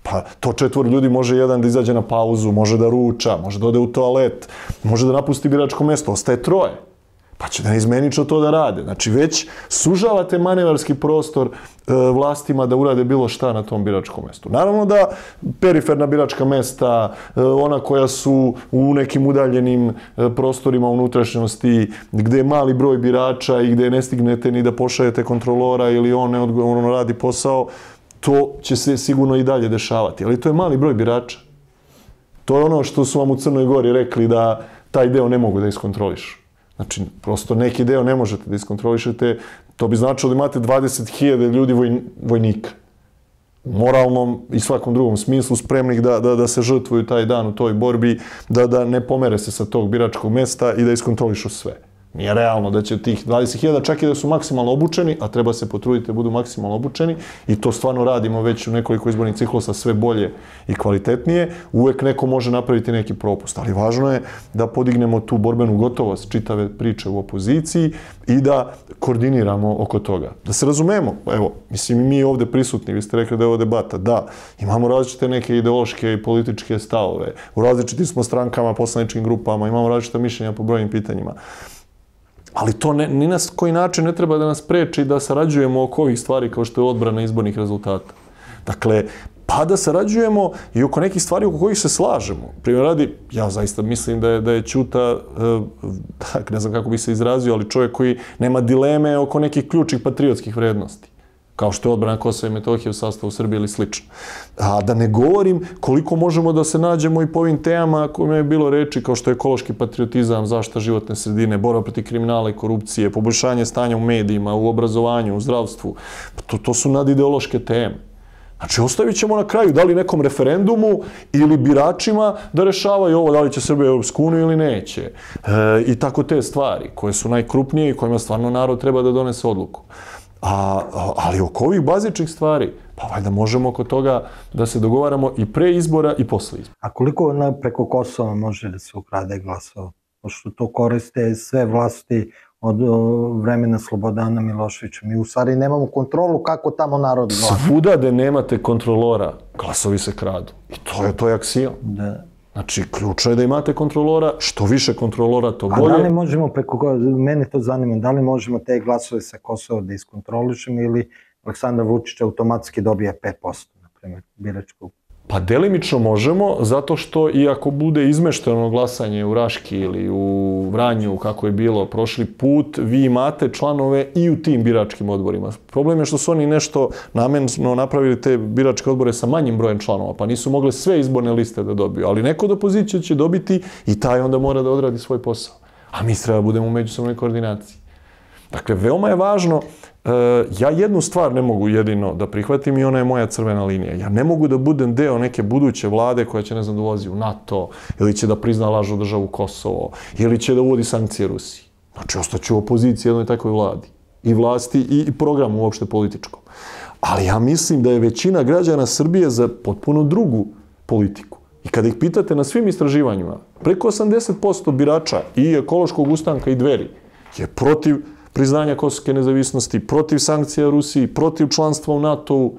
Pa to četvoro ljudi može jedan da izađe na pauzu, može da ruča, može da ode u toalet, može da napusti biračko mesto, ostaje troje. Pa će da neizmenično to da rade. Znači već sužavate manevarski prostor e, vlastima da urade bilo šta na tom biračkom mestu. Naravno da periferna biračka mesta, e, ona koja su u nekim udaljenim e, prostorima unutrašnjosti, gde je mali broj birača i gde ne stignete ni da pošaljete kontrolora ili on neodgovorno radi posao, to će se sigurno i dalje dešavati. Ali to je mali broj birača. To je ono što su vam u Crnoj Gori rekli da taj deo ne mogu da iskontrolišu. Znači, prosto neki deo ne možete da iskontrolišete. To bi značilo da imate dvadeset hiljada ljudi voj, vojnika. U moralnom i svakom drugom smislu spremnih da, da, da se žrtvuju taj dan u toj borbi, da, da ne pomere se sa tog biračkog mesta i da iskontrolišu sve. Nije realno da će tih dvadeset hiljada, čak i da su maksimalno obučeni, a treba se potruditi da budu maksimalno obučeni, i to stvarno radimo već u nekoliko izbornih ciklusa sve bolje i kvalitetnije, uvek neko može napraviti neki propust. Ali važno je da podignemo tu borbenu gotovost čitave priče u opoziciji i da koordiniramo oko toga. Da se razumemo, evo, mislim, mi ovde prisutni, vi ste rekli da je ovo debata, da, imamo različite neke ideološke i političke stavove, u različitim smo strankama, poslaničkim grupama, imamo različita mišljenja po brojnim pitanjima. Ali to ne, ni na koji način ne treba da nas preči da sarađujemo oko ovih stvari kao što je odbrana izbornih rezultata. Dakle, pa da sarađujemo i oko nekih stvari oko kojih se slažemo. Primjer radi, ja zaista mislim da je, da je Ćuta, tak, ne znam kako bi se izrazio, ali čovjek koji nema dileme oko nekih ključnih patriotskih vrednosti, kao što je odbrana Kosova i Metohije u sastavu Srbije ili slično. A da ne govorim koliko možemo da se nađemo i po ovim temama kojima je bilo reči, kao što je ekološki patriotizam, zaštita životne sredine, borba protiv kriminala i korupcije, poboljšanje stanja u medijima, u obrazovanju, u zdravstvu. To, to su nadideološke teme. Znači, ostavit ćemo na kraju da li nekom referendumu ili biračima da rešavaju ovo, da li će Srbija u Europsku uniju ili neće. E, I tako te stvari, koje su najkrupnije i kojima stvarno narod treba da donese odluku. A, ali oko ovih bazičnih stvari, pa valjda možemo oko toga da se dogovaramo i pre izbora i posle izbora. A koliko na, preko Kosova može da se ukrade glasova? Pošto to koriste sve vlasti od o, vremena Slobodana Miloševića. Mi u stvari nemamo kontrolu kako tamo narod glasa. Svuda gde nemate kontrolora, glasovi se kradu. I to je, to je aksijom. Da. Znači, ključno je da imate kontrolora, što više kontrolora, to bolje. A da li možemo preko, mene to zanima, da li možemo te glasove sa Kosova da iskontrolišemo ili Aleksandar Vučić automatski dobija pet posto, na primjer, biračkog? Pa delimično možemo, zato što i ako bude izmešteno glasanje u Raški ili u Vranju, kako je bilo prošli put, vi imate članove i u tim biračkim odborima. Problem je što su oni nešto namenno napravili te biračke odbore sa manjim brojem članova, pa nisu mogle sve izborne liste da dobiju, ali neko od opozicije će dobiti i taj onda mora da odradi svoj posao. a mi treba da budemo u međusobnoj koordinaciji. Dakle, veoma je važno, ja jednu stvar ne mogu jedino da prihvatim i ona je moja crvena linija. Ja ne mogu da budem deo neke buduće vlade koja će, ne znam, da ulazi u NATO, ili će da prizna lažnu državu Kosovo, ili će da uvodi sankcije Rusiji. Znači, ostaću u opoziciji jednoj takvoj vladi. I vlasti i programu uopšte političkom. Ali ja mislim da je većina građana Srbije za potpuno drugu politiku. I kada ih pitate na svim istraživanjima, preko osamdeset posto birača i ekološkog ustanka i Dveri je protiv priznanja kosovske nezavisnosti, protiv sankcija Rusiji, protiv članstva u NATO-u.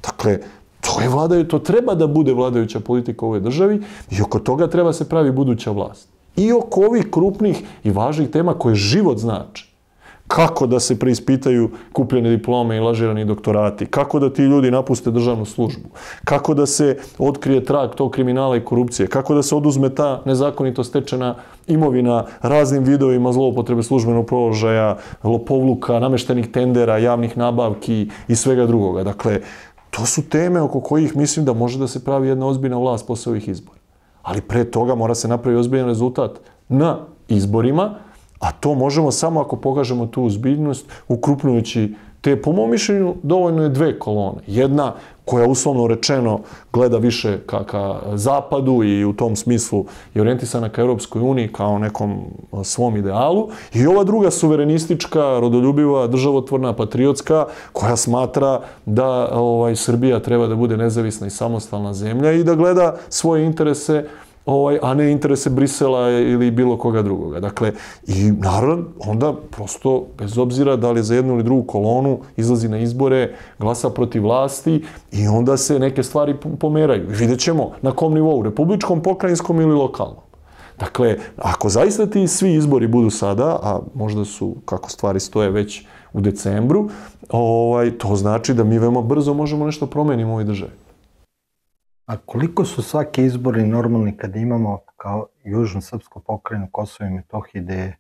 Dakle, to je vladaju, to treba da bude vladajuća politika u ovoj državi i oko toga treba se pravi buduća vlast. I oko ovih krupnih i važnih tema koje život znači. Kako da se preispitaju kupljene diplome i lažirani doktorati, kako da ti ljudi napuste državnu službu, kako da se otkrije trag tog kriminala i korupcije, kako da se oduzme ta nezakonito stečena imovina raznim vidovima zloupotrebe službenog položaja, lopovluka, nameštenih tendera, javnih nabavki i svega drugoga. Dakle, to su teme oko kojih mislim da može da se pravi jedna ozbiljna vlast posle ovih izbora. Ali pre toga mora se napraviti ozbiljan rezultat na izborima, a to možemo samo ako pokažemo tu ozbiljnost, ukrupnujući te, po mom mišljenju, dovoljno je dve kolone. Jedna koja, uslovno rečeno, gleda više ka, ka zapadu i u tom smislu je orijentisana ka Europskoj uniji kao nekom svom idealu. I ova druga suverenistička, rodoljubiva, državotvorna, patriotska, koja smatra da ovaj, Srbija treba da bude nezavisna i samostalna zemlja i da gleda svoje interese, Ovaj, a ne interese Brisela ili bilo koga drugoga. Dakle, i narod onda prosto, bez obzira da li je za jednu ili drugu kolonu, izlazi na izbore, glasa protiv vlasti i onda se neke stvari pomeraju. Vidjet ćemo na kom nivou, republičkom, pokrajinskom ili lokalnom. Dakle, ako zaista ti svi izbori budu sada, a možda su, kako stvari stoje, već u decembru, ovaj, to znači da mi veoma brzo možemo nešto promeniti u ovoj državi. A koliko su svaki izbori normalni kad imamo kao južnu srpsku pokrajinu Kosovo i Metohije, gde je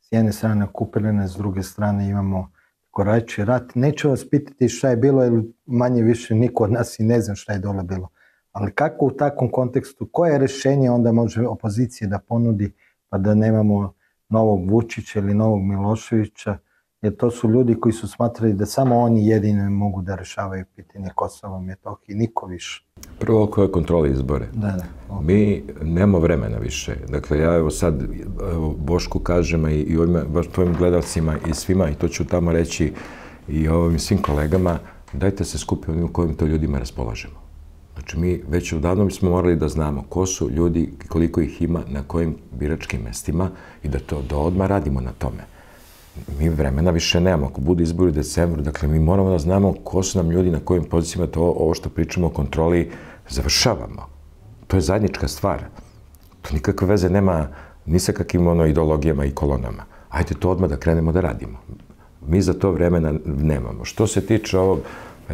s jedne strane okupirane, s druge strane imamo korajući rat? Neću vas pitati šta je bilo, jer manje više niko od nas i ne znam šta je dole bilo. Ali kako u takvom kontekstu, koje rešenje onda može opozicija da ponudi pa da nemamo novog Vučića ili novog Miloševića, jer to su ljudi koji su smatrali da samo oni jedini mogu da rešavaju pitanje Kosova i Metohije, niko više. Prvo, oko kontrole izbore. Da, da. Okay. Mi nemamo vremena više. Dakle, ja evo sad Bošku kažem i, i ovim baš tvojim gledalcima i svima, i to ću tamo reći i ovim svim kolegama, dajte se skupiti u kojim to ljudima raspolažemo. Znači, mi već odavno smo morali da znamo ko su ljudi, koliko ih ima, na kojim biračkim mestima i da to da odmah radimo na tome. Mi vremena više nemamo. Ako budu izbori u decembru, dakle, mi moramo da znamo ko su nam ljudi, na kojim pozicijama to, ovo što pričamo o kontroli, završavamo. To je zajednička stvar. To nikakve veze nema ni sa kakvim ono ideologijama i kolonama. Ajde to odmah da krenemo da radimo. Mi za to vremena nemamo. Što se tiče ovog,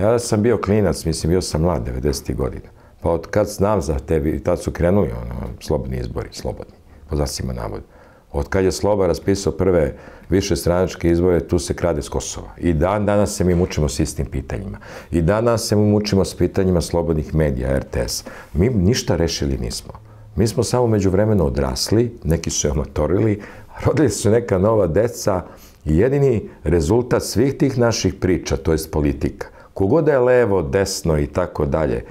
ja sam bio klinac, mislim, bio sam mlad, devedesetih godina. Pa od kad znam za tebi, tad su krenuli ono, slobodni izbori, slobodni, po znacima navoda. Od kad je Sloba raspisao prve višestranačke izbore, tu se krade s Kosova. I dan danas se mi mučimo s istim pitanjima. I danas se mi mučimo s pitanjima slobodnih medija, er te es. Mi ništa rešili nismo. Mi smo samo međuvremeno odrasli, neki su amatorili, rodili su neka nova deca i jedini rezultat svih tih naših priča, to jest politika, kogoda je levo, desno i tako dalje,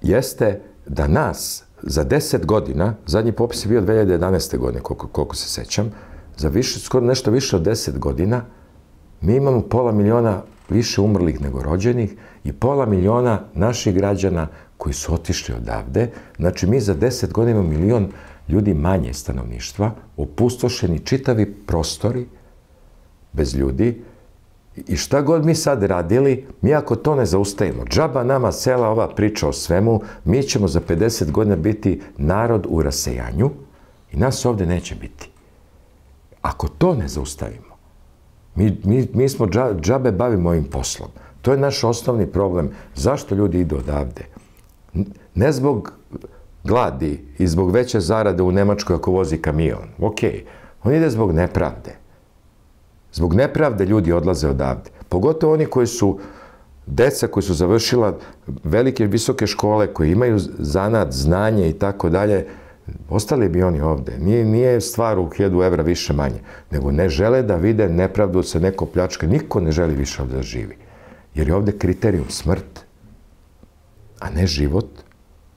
jeste da nas za deset godina, zadnji popis je bio dve hiljade jedanaeste. godine, koliko, koliko se sećam, za više, skoro nešto više od deset godina, mi imamo pola miliona više umrlih nego rođenih i pola miliona naših građana koji su otišli odavde. Znači, mi za deset godina imamo milion ljudi manje stanovništva, opustošeni čitavi prostori bez ljudi. I šta god mi sad radili, mi ako to ne zaustavimo, džaba nama cela ova priča o svemu, mi ćemo za pedeset godina biti narod u rasejanju i nas ovde neće biti. Ako to ne zaustavimo, mi, mi, mi smo džabe bavimo ovim poslom. To je naš osnovni problem. Zašto ljudi idu odavde? Ne zbog gladi i zbog veće zarade u Nemačkoj ako vozi kamion. Okej, on ide zbog nepravde. Zbog nepravde ljudi odlaze odavde. Pogotovo oni koji su, deca koji su završila velike, visoke škole, koji imaju zanat, znanje i tako dalje, Ostali bi oni ovde. Nije, nije stvar u hiljadu evra više manje, nego ne žele da vide nepravdu se neko pljačka. Niko ne želi više ovde da živi. Jer je ovde kriterijum smrt, a ne život,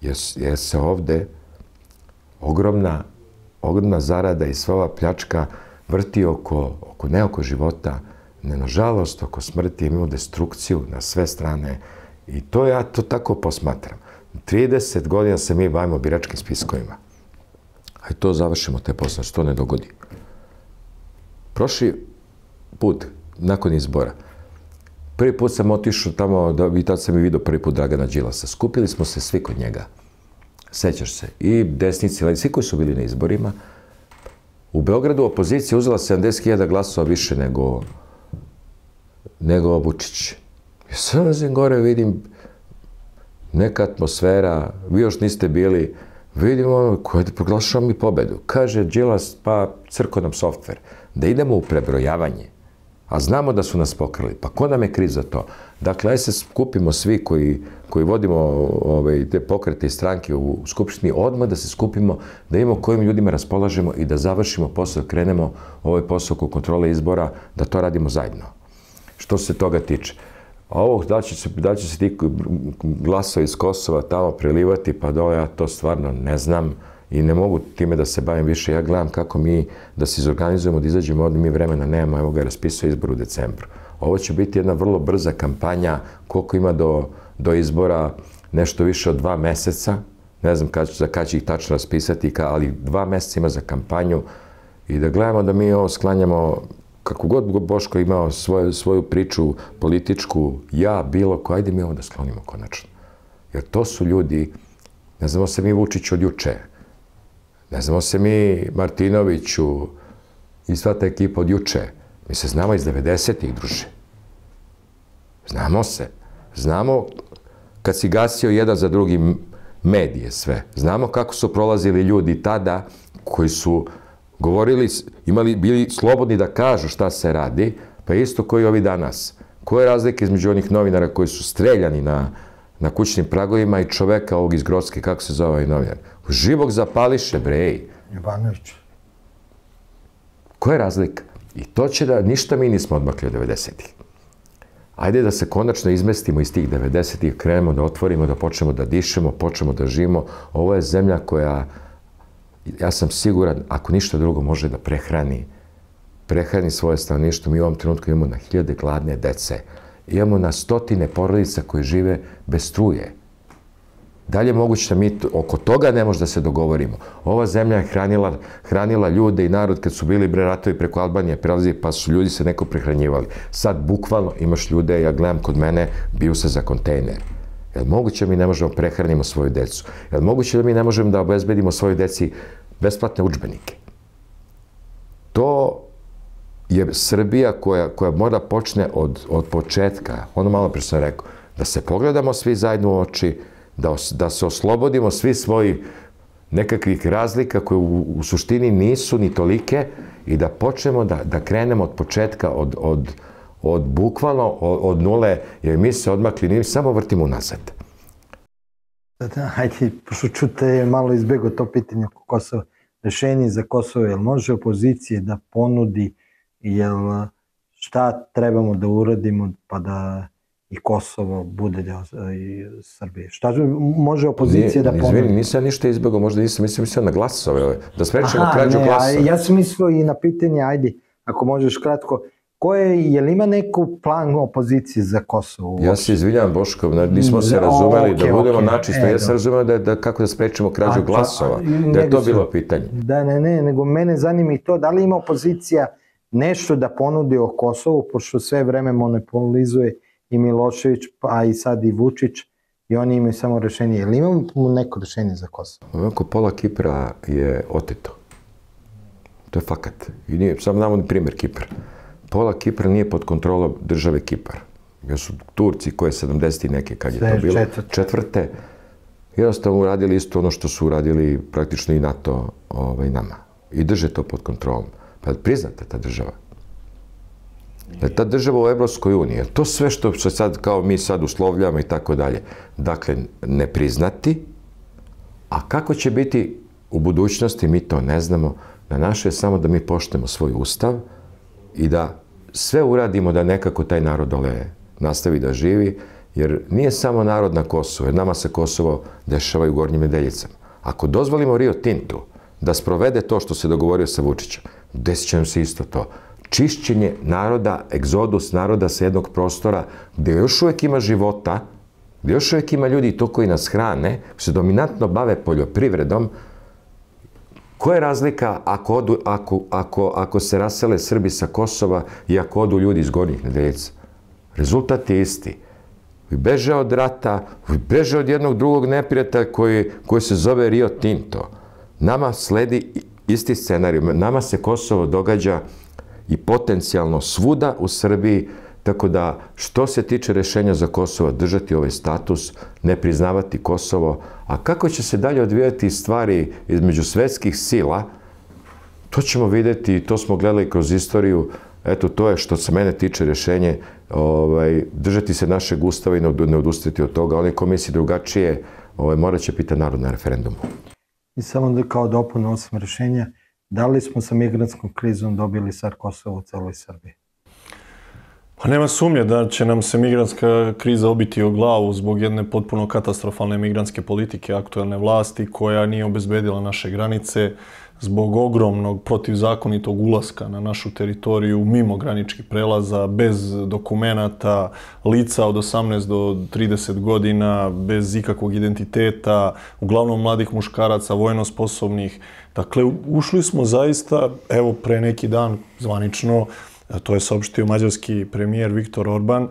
jer, jer se ovde ogromna, ogromna zarada i sva ova pljačka vrti oko, oko ne oko života, ne nažalost oko smrti. Imamo destrukciju na sve strane i to ja to tako posmatram. trideset godina se mi bavimo biračkim spiskovima. Hajde to završimo, te posle, što ne dogodi. Prošli put, nakon izbora, prvi put sam otišao tamo, da, i tad sam i vidio prvi put Dragana Đilasa. Skupili smo se svi kod njega. Sećaš se. I desnici, ali svi koji su bili na izborima. U Beogradu opozicija uzela sedamdeset hiljada glasova više nego nego Vučić. I sad razim gore, vidim neka atmosfera, vi još niste bili, vidimo koje proglašamo mi pobedu. Kaže Đilas, pa crko nam softver, da idemo u prebrojavanje. A znamo da su nas pokrali. Pa ko nam je kriv za to? Dakle, aj se skupimo svi koji, koji vodimo ove, te pokrete i stranke u Skupštini, odmah da se skupimo, da imamo kojim ljudima raspolažemo i da završimo posao, krenemo ovaj posao oko kontrole izbora, da to radimo zajedno. Što se toga tiče. A ovo, da će se, da će se ti glasovi iz Kosova tamo prelivati, pa da ja to stvarno ne znam i ne mogu time da se bavim više. Ja gledam kako mi da se izorganizujemo, da izađemo, ovdje mi vremena nemamo, evo ga raspisao izbor u decembru. Ovo će biti jedna vrlo brza kampanja, koliko ima do, do izbora, nešto više od dva meseca, ne znam kad, za kad će ih tačno raspisati, ali dva meseca ima za kampanju i da gledamo da mi ovo sklanjamo, kako god Boško imao svoju, svoju priču političku, ja, bilo ko, ajde mi ovo da sklonimo konačno. Jer to su ljudi, ne znamo se mi Vučić od juče, ne znamo se mi Martinoviću i sva ta ekipa od juče. Mi se znamo iz devedesetih, druže. Znamo se. Znamo kad si gasio jedan za drugi medije sve. Znamo kako su prolazili ljudi tada koji su govorili, imali, bili slobodni da kažu šta se radi, pa isto koji ovi danas. Koje je razlike između onih novinara koji su streljani na, na kućnim pragovima i čoveka ovog iz Grocke, kako se zove ovaj novinar? Živog zapališe, brej. Jovanović. Koja je razlika? I to će da, ništa mi nismo odmakli od devedesetih. Ajde da se konačno izmestimo iz tih devedesetih, krenemo da otvorimo, da počnemo da dišemo, počnemo da živimo. Ovo je zemlja koja, ja sam siguran, ako ništa drugo može da prehrani, prehrani svoje stanovništvo. Mi u ovom trenutku imamo na hiljade gladne dece. Imamo na stotine porodica koji žive bez struje. Dalje moguće da mi oko toga ne može da se dogovorimo. Ova zemlja je hranila, hranila ljude i narod kad su bili bre ratovi preko Albanije prelazi, pa su ljudi se neko prehranjivali. Sad bukvalno imaš ljude, ja gledam kod mene, biju se za kontejner. Je li moguće da mi ne možemo prehranimo svoju decu? Je li moguće da mi ne možemo da obezbedimo svojoj deci besplatne udžbenike? To je Srbija koja, koja mora počne od, od početka. Ono malo pre sam rekao, da se pogledamo svi zajedno u oči, da, os, da se oslobodimo svi svojih nekakvih razlika koje u, u suštini nisu ni tolike i da počnemo da, da krenemo od početka, od, od, od bukvalno od, od nule, jer mi se odmakli, mi samo vrtimo unazad. Da, hajde, pošto čute malo izbjego to pitanje oko Kosova. Rešenje za Kosovo, jel može opozicije da ponudi, jel šta trebamo da uradimo pa da i Kosovo bude deo Srbije? Šta može opozicija da ponudi? Izvini, nisam ništa izbjegao, možda nisam mislio na glasove, da sprečimo krađu glasova. Ja sam mislio i na pitanje, ajde, ako možeš kratko, koje, je li ima neku plan opozicije za Kosovo? Ja se izvinjam, Boško, nismo se razumeli da budemo načisto. Ja sam razumeo da, da kako da sprečimo krađu glasova, da je to bilo pitanje. Da, ne, ne, nego mene zanima i to, da li ima opozicija nešto da ponudi o Kosovu, pošto sve vreme monopolizuje i Milošević, a i sad i Vučić, i oni imaju samo rešenje. Je li imamo neko rešenje za Kosovo? Ovako, pola Kipra je oteto. To je fakat. I nije, sam navodni primjer Kipra. Pola Kipra nije pod kontrolom države Kipar. Jer su Turci koje sedamdeset neke, kad je to bilo, četvrte, četvrte jednostavno uradili isto ono što su uradili praktično i NATO ovaj, nama. I drže to pod kontrolom. Pa priznate ta država. Da je ta država u Evropskoj uniji, to sve što se sad, kao mi sad uslovljamo i tako dalje. Dakle, ne priznati, a kako će biti u budućnosti mi to ne znamo. Na naše je samo da mi poštujemo svoj ustav i da sve uradimo da nekako taj narod dole nastavi da živi, jer nije samo narod na Kosovu, jer nama se Kosovo dešava i u Gornjim Nedeljicama. Ako dozvolimo Rio Tintu da sprovede to što se dogovorio sa Vučićem, desit će nam se isto to. Čišćenje naroda, egzodus naroda sa jednog prostora gde još uvek ima života, gde još uvek ima ljudi i to koji nas hrane, se dominantno bave poljoprivredom. Koja je razlika ako, odu, ako, ako, ako se rasele Srbi sa Kosova i ako odu ljudi iz Gornjih Nedeljica? Rezultat je isti. Beže od rata, beže od jednog drugog neprijatelja koji, koji se zove Rio Tinto. Nama sledi isti scenarij. Nama se Kosovo događa i potencijalno svuda u Srbiji, tako da što se tiče rešenja za Kosovo, držati ovaj status, ne priznavati Kosovo, a kako će se dalje odvijati stvari između svetskih sila, to ćemo vidjeti i to smo gledali kroz istoriju. Eto, to je što se mene tiče rešenje, ovaj, držati se našeg ustava i ne odustati od toga. Onaj ko misli drugačije, ovaj, morat će pitati narod na referendumu. I samo da kao dopunu osim rešenja, da li smo sa migrantskom krizom dobili sad Kosovo u celoj Srbiji? Pa nema sumnje da će nam se migrantska kriza obiti o glavu zbog jedne potpuno katastrofalne migrantske politike aktuelne vlasti koja nije obezbedila naše granice, zbog ogromnog protivzakonitog ulaska na našu teritoriju mimo graničkih prelaza, bez dokumenata, lica od osamnaest do trideset godina, bez ikakvog identiteta, uglavnom mladih muškaraca, vojno sposobnih. Dakle, ušli smo zaista, evo pre neki dan zvanično, to je saopštio mađarski premijer Viktor Orban,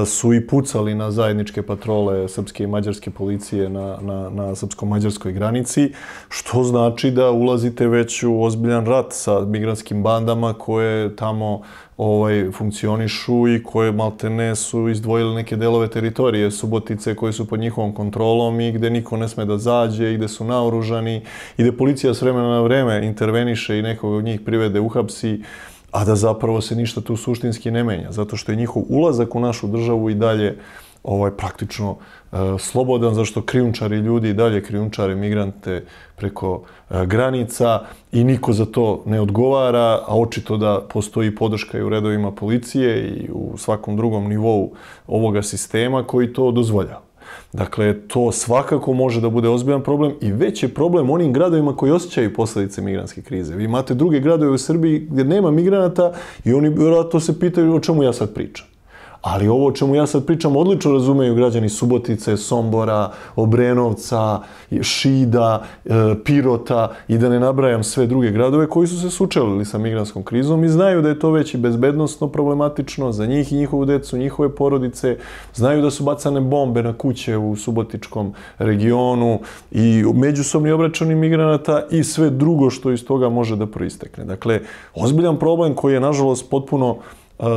su i pucali na zajedničke patrole srpske i mađarske policije na, na, na srpsko-mađarskoj granici, što znači da ulazite već u ozbiljan rat sa migrantskim bandama koje tamo ovaj, funkcionišu i koje maltene su izdvojili neke delove teritorije, Subotice koje su pod njihovom kontrolom i gde niko ne sme da zađe i gde su naoružani i gde policija s vremena na vreme interveniše i nekog od njih privede, uhapsi, a da zapravo se ništa tu suštinski ne menja, zato što je njihov ulazak u našu državu i dalje ovaj, praktično e, slobodan, zašto krijumčari ljudi i dalje krijumčare migrante preko e, granica i niko za to ne odgovara, a očito da postoji podrška i u redovima policije i u svakom drugom nivou ovoga sistema koji to dozvoljava. Dakle, to svakako može da bude ozbiljan problem i već je problem onim gradovima koji osjećaju posljedice migrantske krize. Vi imate druge gradove u Srbiji gdje nema migranata i oni vjerojatno se pitaju o čemu ja sad pričam. Ali ovo o čemu ja sad pričam odlično razumeju građani Subotice, Sombora, Obrenovca, Šida, Pirota i da ne nabrajam sve druge gradove koji su se sučelili sa migrantskom krizom i znaju da je to već i bezbednosno problematično za njih i njihovu decu, njihove porodice. Znaju da su bacane bombe na kuće u subotičkom regionu i međusobni obračuni migranata i sve drugo što iz toga može da proistekne. Dakle, ozbiljan problem koji je nažalost potpuno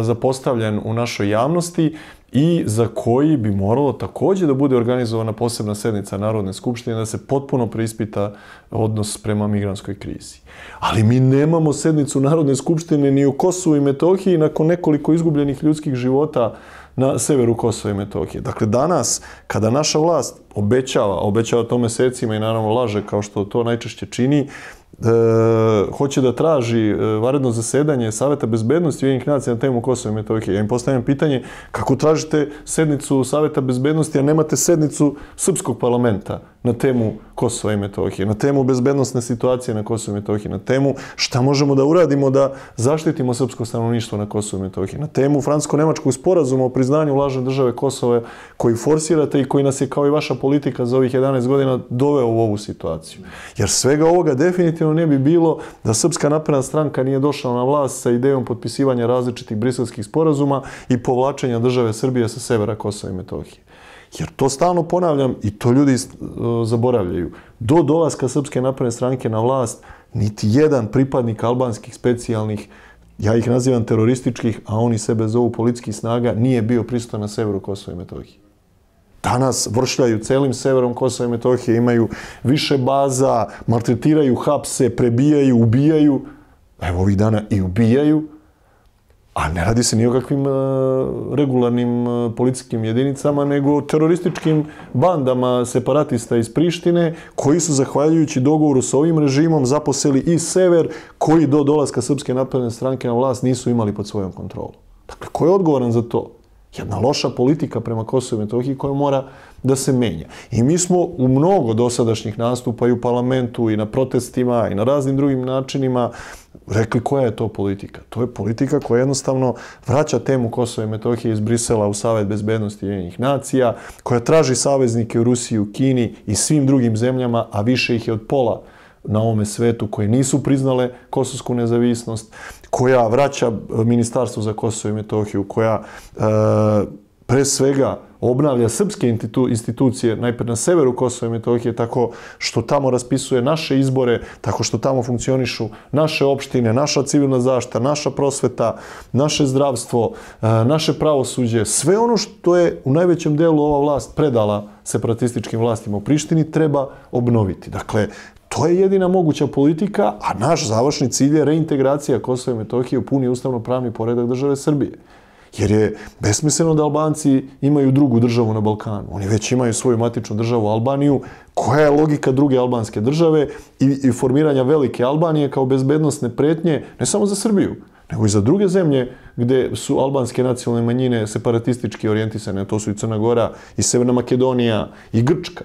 zapostavljen u našoj javnosti i za koji bi moralo također da bude organizovana posebna sednica Narodne skupštine da se potpuno preispita odnos prema migrantskoj krizi. Ali mi nemamo sednicu Narodne skupštine ni u Kosovu i Metohiji nakon nekoliko izgubljenih ljudskih života na severu Kosova i Metohije. Dakle, danas, kada naša vlast obećava, obećava to mesecima i naravno laže kao što to najčešće čini, E, hoće da traži e, vanredno zasedanje Saveta bezbednosti Ujedinjenih nacija na temu Kosova i Metohije. Ja im postavljam pitanje kako tražite sednicu Saveta bezbednosti, a nemate sednicu Srpskog parlamenta na temu Kosova i Metohije, na temu bezbednosne situacije na Kosovu i Metohiji, na temu šta možemo da uradimo da zaštitimo srpsko stanovništvo na Kosovu i Metohiji, na temu francusko-nemačkog sporazuma o priznanju lažne države Kosova koji forsirate i koji nas je kao i vaša politika za ovih jedanaest godina doveo u ovu situaciju. Jer svega ovoga definitivno ne bi bilo da Srpska napredna stranka nije došla na vlast sa idejom potpisivanja različitih briselskih sporazuma i povlačenja države Srbije sa severa Kosova i Metohije. Jer to stalno ponavljam i to ljudi zaboravljaju. Do dolaska Srpske napredne stranke na vlast, niti jedan pripadnik albanskih specijalnih, ja ih nazivam terorističkih, a oni sebe zovu policijskih snaga, nije bio prisutan na severu Kosova i Metohije. Danas vršljaju celim severom Kosova i Metohije, imaju više baza, maltretiraju, hapse, prebijaju, ubijaju. Evo ovih dana i ubijaju. A ne radi se ni o kakvim regularnim policijskim jedinicama, nego o terorističkim bandama separatista iz Prištine, koji su, zahvaljujući dogovoru sa ovim režimom, zaposeli i sever, koji do dolaska Srpske napredne stranke na vlast nisu imali pod svojom kontrolom. Dakle, ko je odgovoran za to? Jedna loša politika prema Kosovu i Metohiji koja mora da se menja. I mi smo u mnogo dosadašnjih nastupa i u parlamentu i na protestima i na raznim drugim načinima rekli koja je to politika. To je politika koja jednostavno vraća temu Kosova i Metohije iz Brisela u Savet bezbednosti Ujedinjenih nacija, koja traži saveznike u Rusiji, u Kini i svim drugim zemljama, a više ih je od pola na ovome svetu koje nisu priznale kosovsku nezavisnost, koja vraća Ministarstvo za Kosovo i Metohiju, koja e, pre svega obnavlja srpske institucije, najprej na severu Kosova i Metohije, tako što tamo raspisuje naše izbore, tako što tamo funkcionišu naše opštine, naša civilna zaštita, naša prosveta, naše zdravstvo, naše pravosuđe. Sve ono što je u najvećem delu ova vlast predala separatističkim vlastima u Prištini treba obnoviti. Dakle, to je jedina moguća politika, a naš završni cilj je reintegracija Kosova i Metohije u puni ustavno-pravni poredak države Srbije. Jer je besmisleno da Albanci imaju drugu državu na Balkanu. Oni već imaju svoju matičnu državu Albaniju. Koja je logika druge albanske države i, i formiranja velike Albanije kao bezbednosne pretnje, ne samo za Srbiju, nego i za druge zemlje gde su albanske nacionalne manjine separatistički orijentisane. To su i Crna Gora, i Severna Makedonija, i Grčka.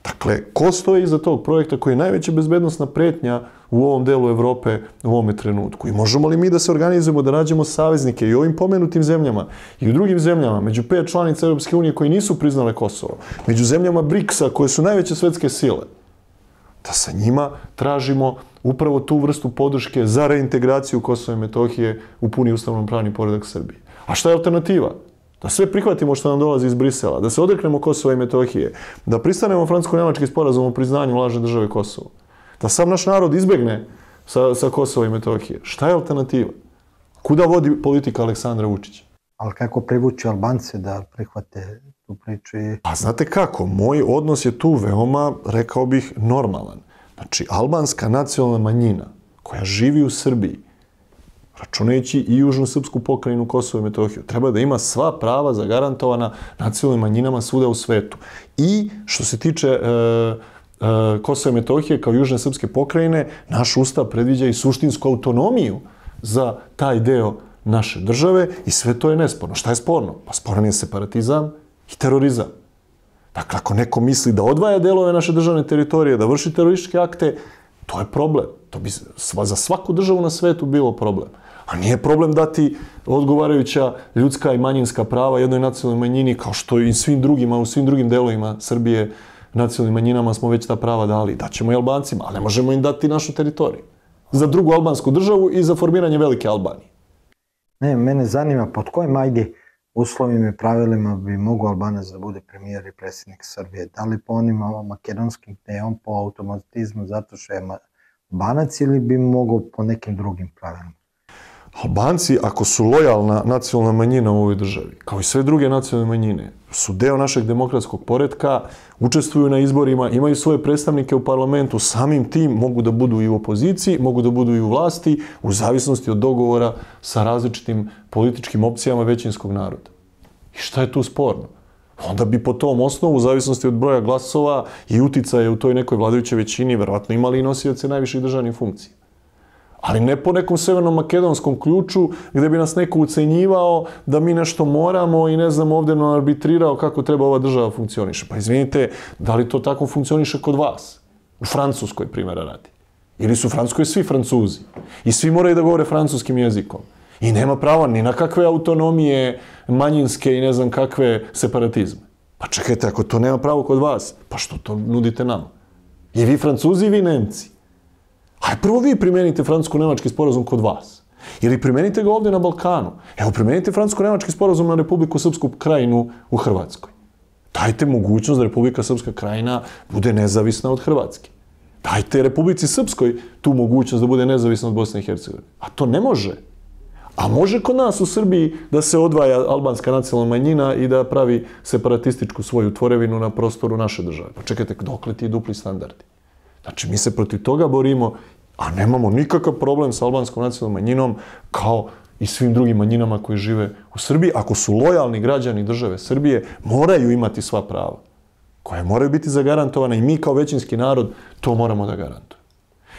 Dakle, ko stoji iza tog projekta koji je najveća bezbednosna pretnja u ovom delu Evrope u ovome trenutku? I možemo li mi da se organizujemo, da nađemo saveznike i u ovim pomenutim zemljama i u drugim zemljama, među pet članica Europske unije koji nisu priznale Kosovo, među zemljama briksa koje su najveće svetske sile, da sa njima tražimo upravo tu vrstu podrške za reintegraciju Kosova i Metohije u puni ustavno-pravni poredak Srbije. A šta je alternativa? Da sve prihvatimo što nam dolazi iz Brisela, da se odreknemo Kosova i Metohije, da pristanemo francusko-nemački sporazum o priznanju lažne države Kosovo, da sam naš narod izbegne sa, sa Kosova i Metohije. Šta je alternativa? Kuda vodi politika Aleksandra Vučića? Ali kako privući Albance da prihvate tu priču? I... Pa znate kako, moj odnos je tu veoma, rekao bih, normalan. Znači, albanska nacionalna manjina koja živi u Srbiji, računajući i južnu srpsku pokrajinu Kosovo i Metohiju, treba da ima sva prava zagarantovana nacionalnim manjinama svuda u svetu. I što se tiče e, e, Kosova i Metohije kao južne srpske pokrajine, naš ustav predviđa i suštinsku autonomiju za taj deo naše države i sve to je nesporno. Šta je sporno? Pa sporan je separatizam i terorizam. Dakle, ako neko misli da odvaja delove naše državne teritorije, da vrši terorističke akte, to je problem. To bi za svaku državu na svetu bilo problem. A nije problem dati odgovarajuća ljudska i manjinska prava jednoj nacionalnoj manjini, kao što i svim drugima, u svim drugim delovima Srbije, nacionalnim manjinama smo već ta prava dali. Daćemo i Albancima, ali ne možemo im dati našu teritoriju. Za drugu albansku državu i za formiranje velike Albanije. Ne, mene zanima pod kojim, ajde, uslovima i pravilima bi mogu Albanac da bude premijer i predsjednik Srbije. Da li po onim makedonskim, gde je on po automatizmu zato što je Albanac, ili bi mogu po nekim drugim pravilima? Albanci, ako su lojalna nacionalna manjina u ovoj državi, kao i sve druge nacionalne manjine, su deo našeg demokratskog poretka, učestvuju na izborima, imaju svoje predstavnike u parlamentu, samim tim mogu da budu i u opoziciji, mogu da budu i u vlasti, u zavisnosti od dogovora sa različitim političkim opcijama većinskog naroda. I šta je tu sporno? Onda bi po tom osnovu, u zavisnosti od broja glasova i uticaja u toj nekoj vladajućoj većini, verovatno imali i nosioce najviših državnih funkcija. Ali ne po nekom severno-makedonskom ključu gde bi nas neko ucenjivao da mi nešto moramo i ne znam ovdje nam arbitrirao kako treba ova država funkcioniše. Pa izvinite, da li to tako funkcioniše kod vas? U Francuskoj, primjera radi. Ili su u Francuskoj svi Francuzi. I svi moraju da govore francuskim jezikom. I nema prava ni na kakve autonomije manjinske i ne znam kakve separatizme. Pa čekajte, ako to nema pravo kod vas, pa što to nudite nama? I vi Francuzi i vi Nemci. Aj, prvo vi primenite francusko-nemački sporazum kod vas. Ili primenite ga ovdje na Balkanu. Evo, primenite francusko-nemački sporazum na Republiku Srpsku krajinu u Hrvatskoj. Dajte mogućnost da Republika Srpska krajina bude nezavisna od Hrvatske. Dajte Republici Srpskoj tu mogućnost da bude nezavisna od Bosne i Hercegovine. A to ne može. A može kod nas u Srbiji da se odvaja albanska nacionalna manjina i da pravi separatističku svoju tvorevinu na prostoru naše države. Pa čekajte, dokle ti dupli standardi? Znači, mi se protiv toga borimo, a nemamo nikakav problem sa albanskom nacionalnom manjinom kao i svim drugim manjinama koji žive u Srbiji. Ako su lojalni građani države Srbije, moraju imati sva prava, koja moraju biti zagarantovana i mi kao većinski narod to moramo da garantujemo.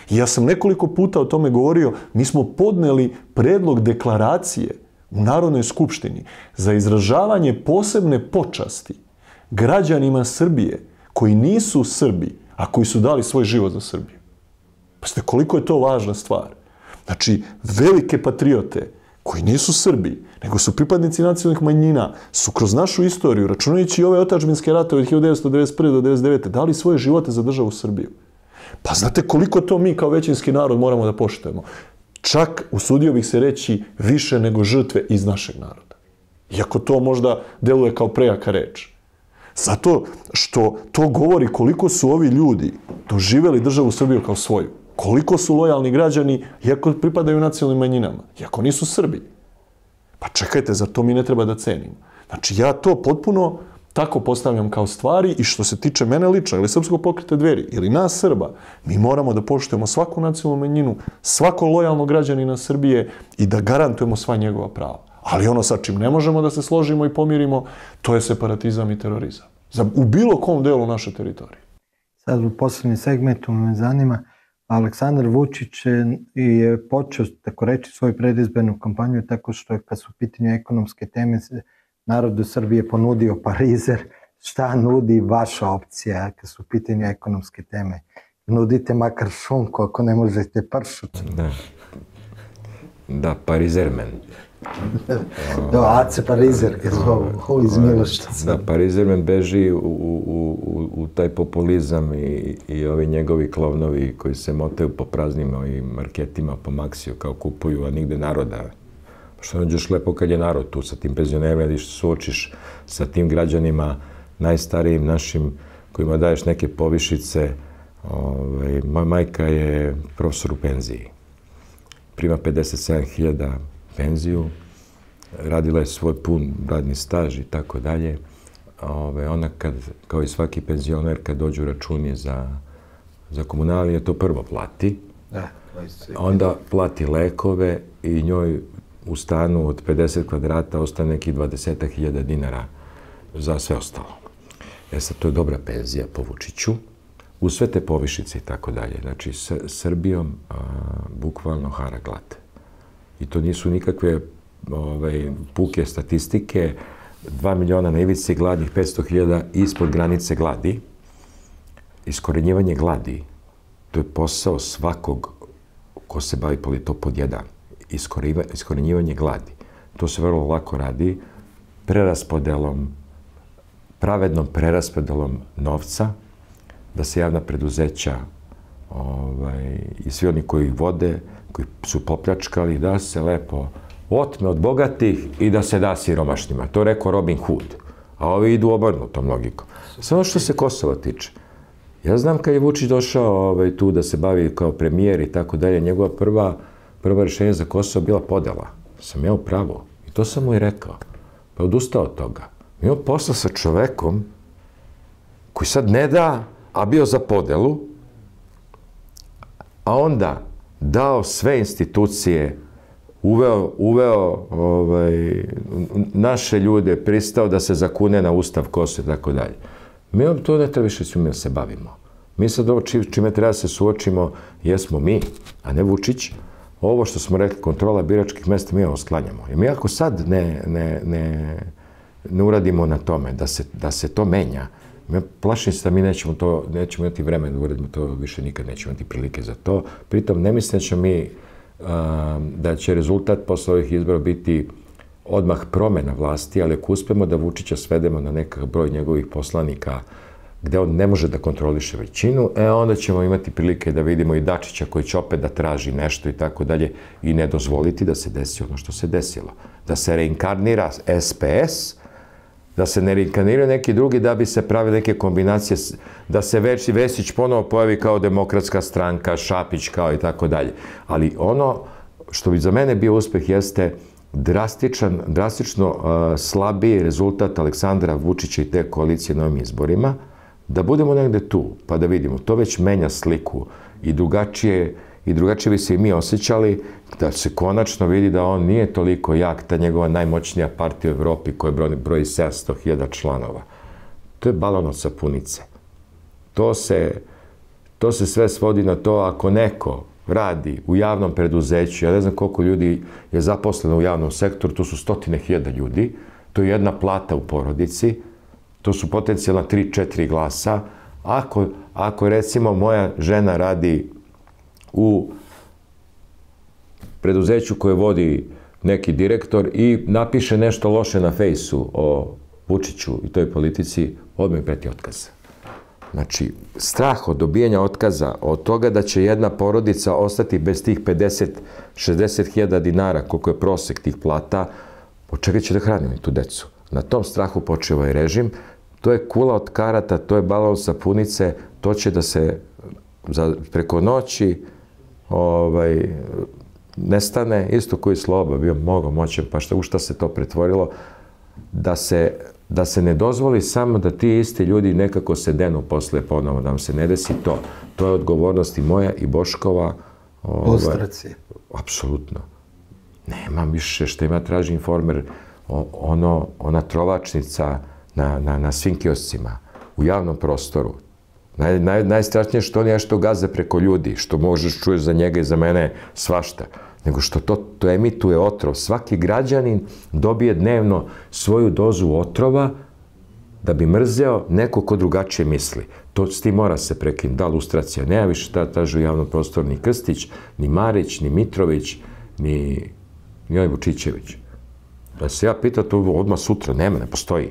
I ja sam nekoliko puta o tome govorio, mi smo podneli predlog deklaracije u Narodnoj skupštini za izražavanje posebne počasti građanima Srbije koji nisu Srbi, a koji su dali svoj život za Srbiju. Pa ste koliko je to važna stvar. Znači, velike patriote koji nisu Srbi, nego su pripadnici nacionalnih manjina, su kroz našu istoriju, računajući i ove otadžbinske ratove od hiljadu devetsto devedeset prve do devedeset devete dali svoje živote za državu Srbiju. Pa znate koliko to mi kao većinski narod moramo da poštujemo. Čak, usudio bih se reći, više nego žrtve iz našeg naroda. Iako to možda deluje kao prejaka reč. Zato što to govori koliko su ovi ljudi doživjeli državu Srbiju kao svoju. Koliko su lojalni građani, iako pripadaju nacionalnim manjinama, iako nisu Srbi. Pa čekajte, za to mi ne treba da cenimo. Znači, ja to potpuno tako postavljam kao stvari i što se tiče mene lično, ili Srpskog pokreta Dveri, ili nas Srba, mi moramo da poštujemo svaku nacionalnu manjinu, svako lojalno građanina Srbije i da garantujemo sva njegova prava. Ali ono sa čim ne možemo da se složimo i pomirimo, to je separatizam i terorizam. U bilo kom delu naše teritorije. Sad u poslednjem segmentu me zanima, Aleksandar Vučić je počeo, tako reći, svoju predizbornu kampanju tako što je, kad su u pitanju ekonomske teme, narodu Srbije ponudio parizer. Šta nudi vaša opcija kad su u pitanju ekonomske teme? Nudite makar šunku, ako ne možete pršut. Da, da, parizermen. Da, Ace parizer, kad zovu iz Miloštica. Da, parizermen beži u, u, u, u taj populizam i, i ovi njegovi klovnovi koji se motaju po praznim ovim marketima po Maksiju, kao kupuju, a nigde naroda. Što nađeš lepo kad je narod tu sa tim penzionerima, ili što suočiš sa tim građanima, najstarijim našim, kojima daješ neke povišice. Ove, moja majka je profesor u penziji. Prima pedeset sedam hiljada penziju, radila je svoj pun radni staž i tako dalje. Ona, kad, kao i svaki penzioner, kad dođu računi za, za komunalije, to prvo plati. Da, onda plati lekove i njoj u stanu od pedeset kvadrata ostane nekih dvadeset hiljada dinara za sve ostalo. E sad, to je dobra penzija po Vučiću, uz sve te povišice i tako dalje. Znači, s Srbijom a, bukvalno hara glad. I to nisu nikakve ovaj, puke statistike. Dva miliona na ivici gladnih, petsto hiljada ispod granice gladi. Iskorenjivanje gladi, to je posao svakog ko se bavi politikom pod jedan. Iskorenjivanje gladi. To se vrlo lako radi preraspodelom, pravednom preraspodelom novca, da se javna preduzeća ovaj, i svi oni koji ih vode, koji su popljačkali, da se lepo otme od bogatih i da se da siromašnima. To je rekao Robin Hood. A ovi idu obrnutom logikom. Samo što se Kosova tiče. Ja znam kad je Vučić došao ovaj, tu da se bavi kao premijer i tako dalje, njegova prva, prva rješenja za Kosovo bila podela. Sam ja u pravu. I to sam mu i rekao. Pa odustao od toga. Mi imamo posla sa čovekom koji sad ne da, a bio za podelu, a onda dao sve institucije, uveo, uveo ovaj, naše ljude, pristao da se zakune na Ustav Kosova i tako dalje. Mi vam to ne treba više svime da se bavimo. Mi sad ovo čime treba da se suočimo jesmo mi, a ne Vučić. Ovo što smo rekli, kontrola biračkih mesta, mi ovo sklanjamo. Jer mi ako sad ne, ne, ne, ne uradimo na tome, da se, da se to menja, mi plašim se da mi nećemo, to, nećemo imati vremena da uradimo to, više nikad nećemo imati prilike za to. Pritom, ne mislim da ćemo mi, a, da će rezultat posle ovih izbora biti odmah promena vlasti, ali ako uspemo da Vučića svedemo na nekakav broj njegovih poslanika gde on ne može da kontroliše većinu, e onda ćemo imati prilike da vidimo i Dačića koji će opet da traži nešto i tako dalje i ne dozvoliti da se desi ono što se desilo. Da se reinkarnira S P S, da se ne reinkarniraju neki drugi da bi se pravili neke kombinacije, da se Već, Vesić ponovo pojavi kao Demokratska stranka, Šapić kao i tako dalje. Ali ono što bi za mene bio uspeh jeste drastičan, drastično uh, slabiji rezultat Aleksandra Vučića i te koalicije na ovim izborima, da budemo negde tu, pa da vidimo. To već menja sliku i drugačije i drugačije bi se i mi osjećali da se konačno vidi da on nije toliko jak, ta njegova najmoćnija partija u Evropi koja broji, broji sedamsto hiljada članova. To je balon od sapunice. To se, to se sve svodi na to ako neko radi u javnom preduzeću, ja ne znam koliko ljudi je zaposleno u javnom sektoru, to su stotine hiljada ljudi, to je jedna plata u porodici, to su potencijalna tri četiri glasa. Ako, ako recimo moja žena radi u preduzeću koje vodi neki direktor i napiše nešto loše na fejsu o Vučiću i toj politici, odmah preti otkaz. Znači, strah od dobijanja otkaza, od toga da će jedna porodica ostati bez tih pedeset šezdeset hiljada dinara, koliko je prosek tih plata, od čega će da hranimo tu decu? Na tom strahu počeo je režim. To je kula od karata, to je balon od sapunice, to će da se za, preko noći ovaj, nestane, isto koji Sloba, bio mnogo moćan, pa šta, u šta se to pretvorilo, da se, da se ne dozvoli samo da ti isti ljudi nekako se denu posle ponovo, da vam se ne desi to. To je odgovornost i moja i Boškova. Ovaj, Lustracije. Apsolutno. Nemam više što ima traži Informer, ono, ona trovačnica na, na, na svim kioscima, u javnom prostoru. Naj, naj, najstrašnije što on je što gaze preko ljudi, što možeš čuješ za njega i za mene svašta, nego što to, to emituje otrov. Svaki građanin dobije dnevno svoju dozu otrova da bi mrzeo neko ko drugačije misli. To s tim mora se prekinuti. Da, lustracija. Nema više ta traži u javnom prostoru ni Krstić, ni Marić, ni Mitrović, ni, ni ovaj Vučićević. Da se ja pitam to odmah sutra, nema, ne postoji.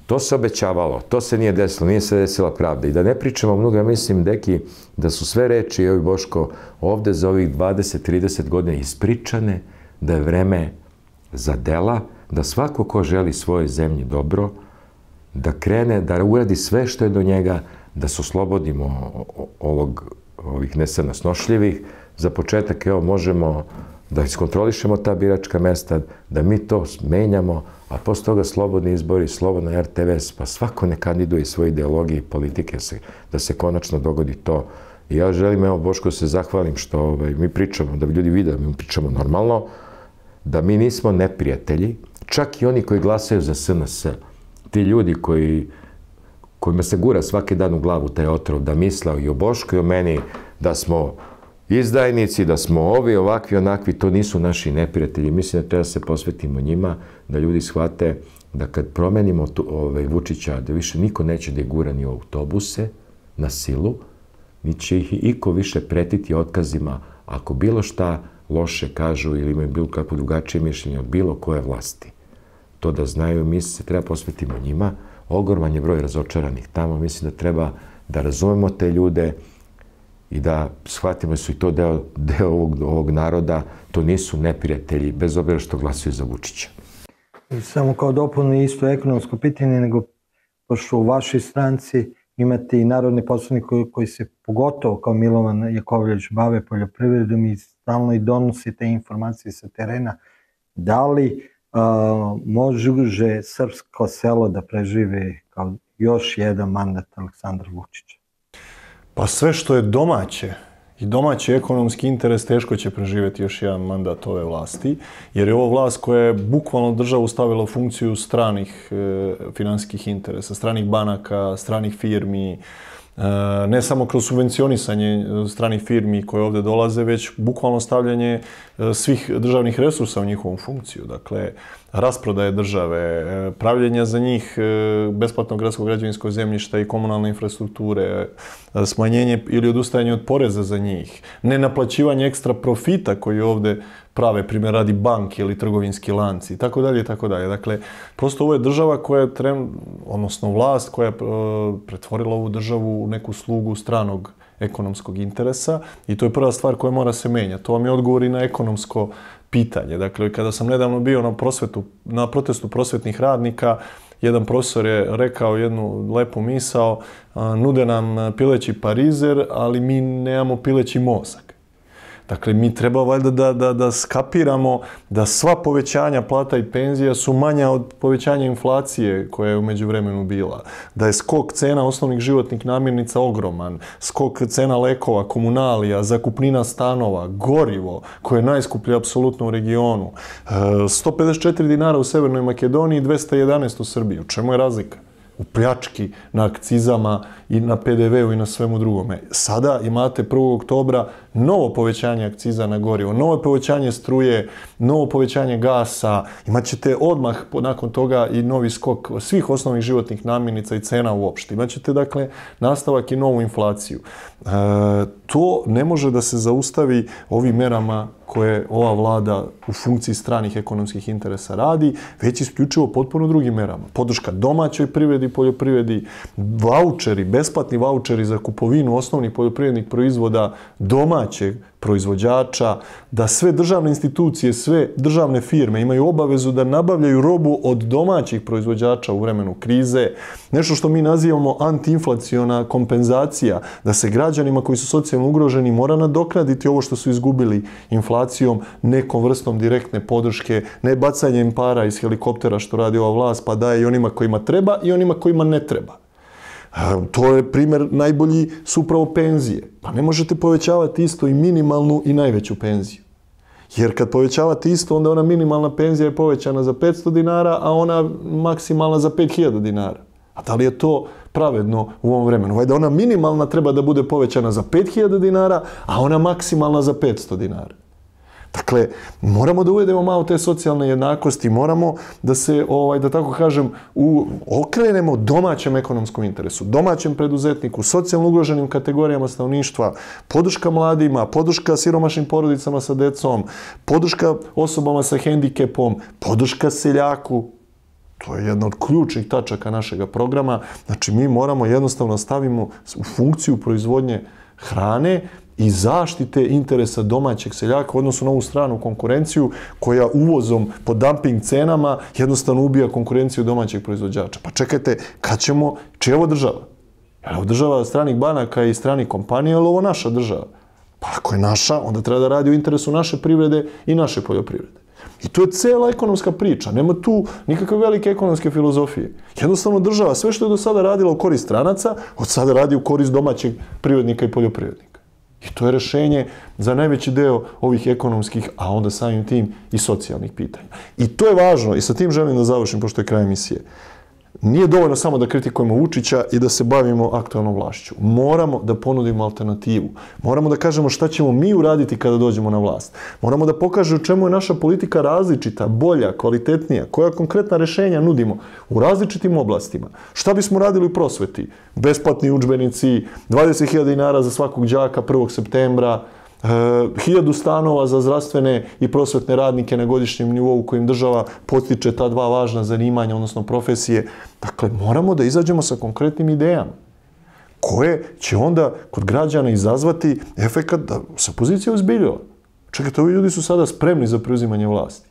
To se obećavalo, to se nije desilo, nije se desila pravda. I da ne pričamo mnogo, ja mislim, deki, da su sve reči, evo Boško, ovde za ovih dvadeset trideset godina ispričane, da je vreme za dela, da svako ko želi svojoj zemlji dobro, da krene, da uradi sve što je do njega, da se oslobodimo ovog, ovih nesnosnošljivih. Za početak, evo, možemo da iskontrolišemo ta biračka mesta, da mi to menjamo, a posle toga slobodni izbori, slobodna er te ve es, pa svako ne kandiduje svoje ideologije i politike, da se konačno dogodi to. I ja želim, evo, Boško, se zahvalim što ovaj, mi pričamo, da bi ljudi vide da mi pričamo normalno, da mi nismo neprijatelji, čak i oni koji glasaju za es en es. Ti ljudi koji, kojima se gura svaki dan u glavu taj otrov, da misle i o Bošku i o meni, da smo izdajnici, da smo ovi, ovakvi, onakvi, to nisu naši neprijatelji. Mislim da treba se posvetimo njima, da ljudi shvate da kad promenimo tu, ovaj, Vučića, da više niko neće da je gura ni u autobuse na silu, ni će ih iko više pretiti otkazima ako bilo šta loše kažu ili imaju bilo kakvo drugačije mišljenje od bilo koje vlasti. To da znaju, mi se treba posvetimo njima. Ogroman je broj razočaranih tamo. Mislim da treba da razumemo te ljude i da shvatimo su i to deo, deo ovog, ovog naroda, to nisu neprijatelji, bez obzira što glasuju za Vučića. Samo kao dopunu isto ekonomsko pitanje, nego pošto u vašoj stranci imate i narodni poslanik koji, koji se pogotovo kao Milovan Jakovljević bave poljoprivredom i stalno i donosi te informacije sa terena. Da li uh, može srpsko selo da prežive kao još jedan mandat Aleksandra Vučića? Pa sve što je domaće i domaći ekonomski interes teško će preživjeti još jedan mandat ove vlasti, jer je ovo vlast koja je bukvalno državu stavila u funkciju stranih e, finansijskih interesa, stranih banaka, stranih firmi, e, ne samo kroz subvencionisanje stranih firmi koje ovdje dolaze, već bukvalno stavljanje e, svih državnih resursa u njihovu funkciju. Dakle, rasprodaje države, pravljenja za njih besplatnog gradskog građevinskog zemljišta i komunalne infrastrukture, smanjenje ili odustajanje od poreza za njih, nenaplaćivanje ekstra profita koji ovdje prave, primjer radi banke ili trgovinski lanci, i tako dalje, i tako dalje. Dakle, prosto ovo je država koja je, trem, odnosno vlast koja je pretvorila ovu državu u neku slugu stranog ekonomskog interesa i to je prva stvar koja mora se menjati. To vam je odgovor i na ekonomsko pitanje. Dakle, kada sam nedavno bio na, prosvetu, na protestu prosvetnih radnika, jedan profesor je rekao jednu lepu misao, nude nam pileći parizer, ali mi nemamo pileći mozak. Dakle, mi treba valjda da, da, da skapiramo da sva povećanja plata i penzija su manja od povećanja inflacije koja je u međuvremenu bila. Da je skok cena osnovnih životnih namirnica ogroman, skok cena lekova, komunalija, zakupnina stanova, gorivo, koje je najskuplje apsolutno u regionu. sto pedeset četiri dinara u Severnoj Makedoniji, dvesta jedanaest u Srbiji. U čemu je razlika? U pljački, na akcizama i na pe de ve u i na svemu drugome. Sada imate prvog oktobra novo povećanje akciza na gorivo, novo povećanje struje, novo povećanje gasa, imat ćete odmah nakon toga i novi skok svih osnovnih životnih namirnica i cena uopšte. Imat ćete, dakle, nastavak i novu inflaciju. E, to ne može da se zaustavi ovim merama koje ova vlada u funkciji stranih ekonomskih interesa radi, već isključivo potpuno drugim merama. Podrška domaćoj privredi, poljoprivredi, vaučeri, besplatni vaučeri za kupovinu osnovnih poljoprivrednih proizvoda domaćeg proizvođača, da sve državne institucije, sve državne firme imaju obavezu da nabavljaju robu od domaćih proizvođača u vremenu krize. Nešto što mi nazivamo antiinflaciona kompenzacija, da se građanima koji su socijalno ugroženi mora nadoknaditi ovo što su izgubili inflacijom, nekom vrstom direktne podrške, ne bacanjem para iz helikoptera što radi ova vlast, pa daje i onima kojima treba i onima kojima ne treba. To je primjer najbolji su upravo penzije. Pa ne možete povećavati isto i minimalnu i najveću penziju. Jer kad povećavate isto, onda ona minimalna penzija je povećana za petsto dinara, a ona maksimalna za pet hiljada dinara. A da li je to pravedno u ovom vremenu? Vajda ona minimalna treba da bude povećana za pet hiljada dinara, a ona maksimalna za petsto dinara. Dakle, moramo da uvedemo malo te socijalne jednakosti, moramo da se, ovaj, da tako kažem, u, okrenemo domaćem ekonomskom interesu, domaćem preduzetniku, socijalno ugroženim kategorijama stanovništva, podrška mladima, podrška siromašnim porodicama sa decom, podrška osobama sa hendikepom, podrška seljaku. To je jedna od ključnih tačaka našeg programa. Znači, mi moramo jednostavno stavimo u funkciju proizvodnje hrane i zaštite interesa domaćeg seljaka u odnosu na ovu stranu konkurenciju koja uvozom po dumping cenama jednostavno ubija konkurenciju domaćeg proizvođača. Pa čekajte, kad ćemo, čija je ovo država? Je li ovo država stranih banaka i stranih kompanija, ili ovo naša država? Pa ako je naša, onda treba da radi u interesu naše privrede i naše poljoprivrede. I to je cela ekonomska priča. Nema tu nikakve velike ekonomske filozofije. Jednostavno država, sve što je do sada radila u korist stranaca, od sada radi u korist domaćeg privrednika i poljoprivrednika. I to je rešenje za najveći deo ovih ekonomskih, a onda samim tim i socijalnih pitanja. I to je važno, i sa tim želim da završim, pošto je kraj emisije. Nije dovoljno samo da kritikujemo Vučića i da se bavimo aktualnom vlašću. Moramo da ponudimo alternativu. Moramo da kažemo šta ćemo mi uraditi kada dođemo na vlast. Moramo da pokažemo u čemu je naša politika različita, bolja, kvalitetnija, koja konkretna rešenja nudimo u različitim oblastima. Šta bismo radili u prosveti? Besplatni udžbenici, dvadeset hiljada dinara za svakog đaka prvog septembra, hiljadu stanova za zdravstvene i prosvetne radnike na godišnjem nivou kojim država postiče ta dva važna zanimanja, odnosno profesije. Dakle, moramo da izađemo sa konkretnim idejama koje će onda kod građana izazvati efekat da se opozicija ozbiljila. Čekajte, ovi ljudi su sada spremni za preuzimanje vlasti.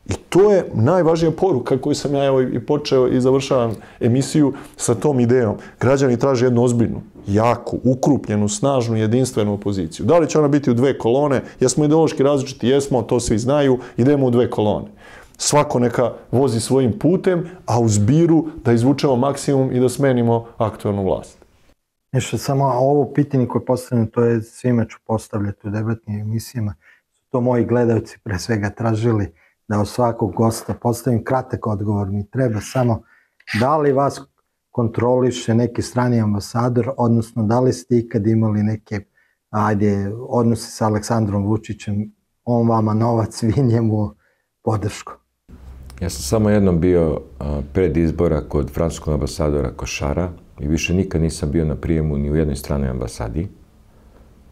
I to je najvažnija poruka koju sam ja evo i počeo i završavam emisiju sa tom idejom. Građani traže jednu ozbiljnu, jaku, ukrupnjenu, snažnu, jedinstvenu opoziciju. Da li će ona biti u dve kolone? Jesmo ideološki različiti? Jesmo, to svi znaju. Idemo u dve kolone. Svako neka vozi svojim putem, a u zbiru da izvučemo maksimum i da smenimo aktualnu vlast. Nešto samo ovo pitanje koje postavljam, to je svima ću postavljati u debatnim emisijama. Su to moji gledalci pre svega tražili da od svakog gosta postavim kratak odgovor. Mi treba samo da li vas kontroliše neki strani ambasador, odnosno da li ste ikad imali neke ajde, odnose sa Aleksandrom Vučićem, on vama novac, vi njemu podršku. Ja sam samo jednom bio pred izbora kod francuskog ambasadora Košara i više nikad nisam bio na prijemu ni u jednoj stranoj ambasadi.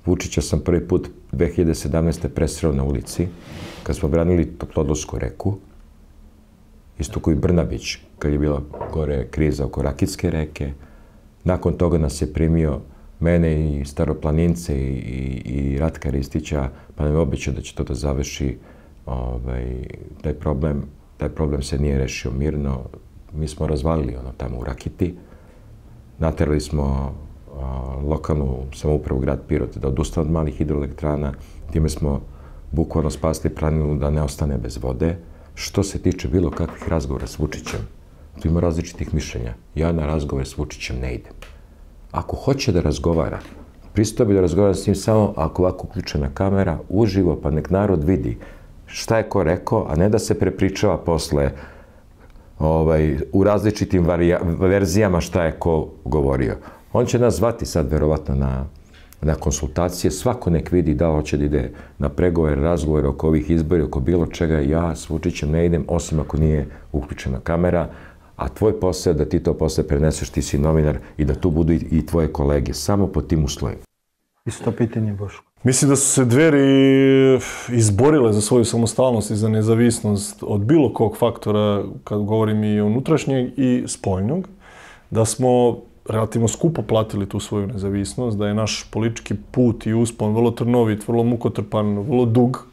Vučića sam prvi put dve hiljade sedamnaeste. presreo na ulici kad smo branili Toplodolsku reku, isto koji Brnabić, kad je bila gore kriza oko Rakitske reke. Nakon toga nas je primio mene i Staroplanince i, i, i Ratka Ristića, pa nam je obećao da će to da završi ovaj, taj problem. Taj problem se nije rešio mirno. Mi smo razvalili ono tamo u Rakiti. Naterali smo lokalnu samoupravu grad Pirot da odustane od malih hidroelektrana. Time smo bukvalno spasli planinu da ne ostane bez vode. Što se tiče bilo kakvih razgovora s Vučićem, tu ima različitih mišljenja. Ja na razgovor s Vučićem ne idem. Ako hoće da razgovara, pristao bi da razgovara s njim samo ako ovako uključena kamera, uživo, pa nek narod vidi šta je ko rekao, a ne da se prepričava posle ovaj, u različitim varija, verzijama šta je ko govorio. On će nas zvati sad verovatno na, na konsultacije, svako nek vidi da hoće da ide na pregovore, razgovore oko ovih izbora, oko bilo čega. Ja s Vučićem ne idem, osim ako nije uključena kamera, a tvoj posao je da ti to posle preneseš, ti si novinar, i da tu budu i, i tvoje kolege, samo po tim uslovima. Isto pitanje, Boško. Mislim da su se Dveri izborile za svoju samostalnost i za nezavisnost od bilo kog faktora, kad govorim i unutrašnjeg i spoljnog, da smo relativno skupo platili tu svoju nezavisnost, da je naš politički put i uspon vrlo trnovit, vrlo mukotrpan, vrlo dug.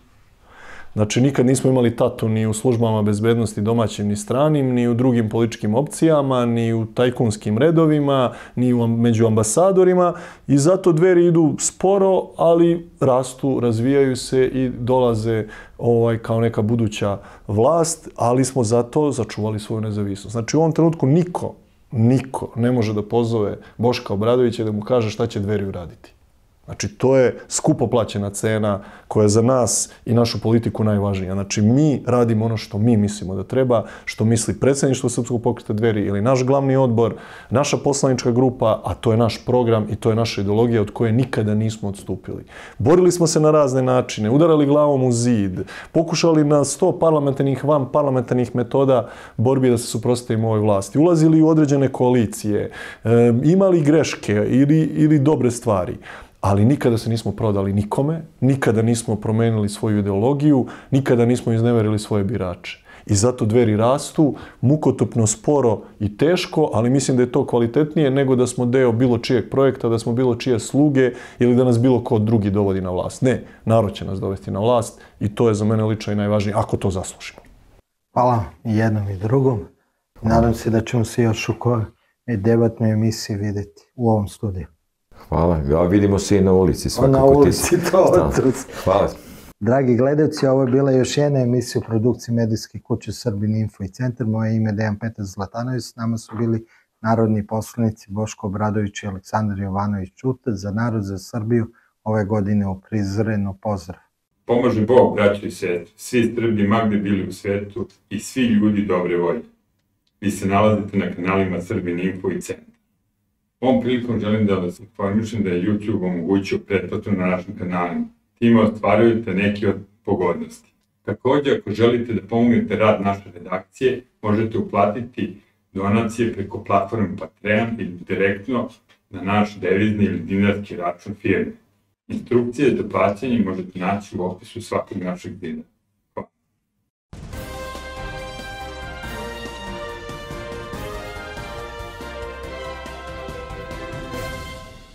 Znači, nikad nismo imali tatu ni u službama bezbednosti domaćim ni stranim, ni u drugim političkim opcijama, ni u tajkunskim redovima, ni u, među ambasadorima, i zato Dveri idu sporo, ali rastu, razvijaju se i dolaze ovaj, kao neka buduća vlast, ali smo zato začuvali svoju nezavisnost. Znači, u ovom trenutku niko, niko ne može da pozove Boška Obradovića da mu kaže šta će Dveri uraditi. Znači, to je skupo plaćena cena koja je za nas i našu politiku najvažnija. Znači, mi radimo ono što mi mislimo da treba, što misli predsjedništvo Srpskog pokreta Dveri ili naš glavni odbor, naša poslanička grupa, a to je naš program i to je naša ideologija od koje nikada nismo odstupili. Borili smo se na razne načine, udarali glavom u zid, pokušali na sto parlamentarnih, van parlamentarnih metoda borbi da se suprotstavimo ovoj vlasti, ulazili u određene koalicije, e, imali greške ili, ili dobre stvari. Ali nikada se nismo prodali nikome, nikada nismo promenili svoju ideologiju, nikada nismo izneverili svoje birače. I zato Dveri rastu, mukotupno, sporo i teško, ali mislim da je to kvalitetnije nego da smo deo bilo čijeg projekta, da smo bilo čije sluge ili da nas bilo ko drugi dovodi na vlast. Ne, narod će nas dovesti na vlast i to je za mene lično i najvažnije, ako to zaslužimo. Hvala i jednom i drugom. Nadam se da ćemo se još u kojoj debatnoj emisiji vidjeti u ovom studiju. Hvala. Ja, vidimo se i na ulici. Svakako. Na ulici, to otrus. Hvala. Dragi gledalci, ovo je bila još jedna emisija u produkciji medijske kuće Srbin Info i Centar. Moje ime je Dejan Petar Zlatanović. S nama su bili narodni poslanici Boško Obradović i Aleksandar Jovanović Ćuta. Za narod, za Srbiju, ove godine u Prizrenu pozdrav. Pomože Bog, braćo i sestre, svi Srbi magde bili u svetu i svi ljudi dobre volje. Vi se nalazite na kanalima Srbin Info i Centar. Ovom prilikom želim da vas informišem da je YouTube omogućio pretplatu na našim kanalima. Time ostvarujete neke od pogodnosti. Također, ako želite da pomognete rad naše redakcije, možete uplatiti donacije preko platforme Patreon ili direktno na naš devizni ili dinarski račun firme. Instrukcije za plaćanje možete naći u opisu svakog našeg videa.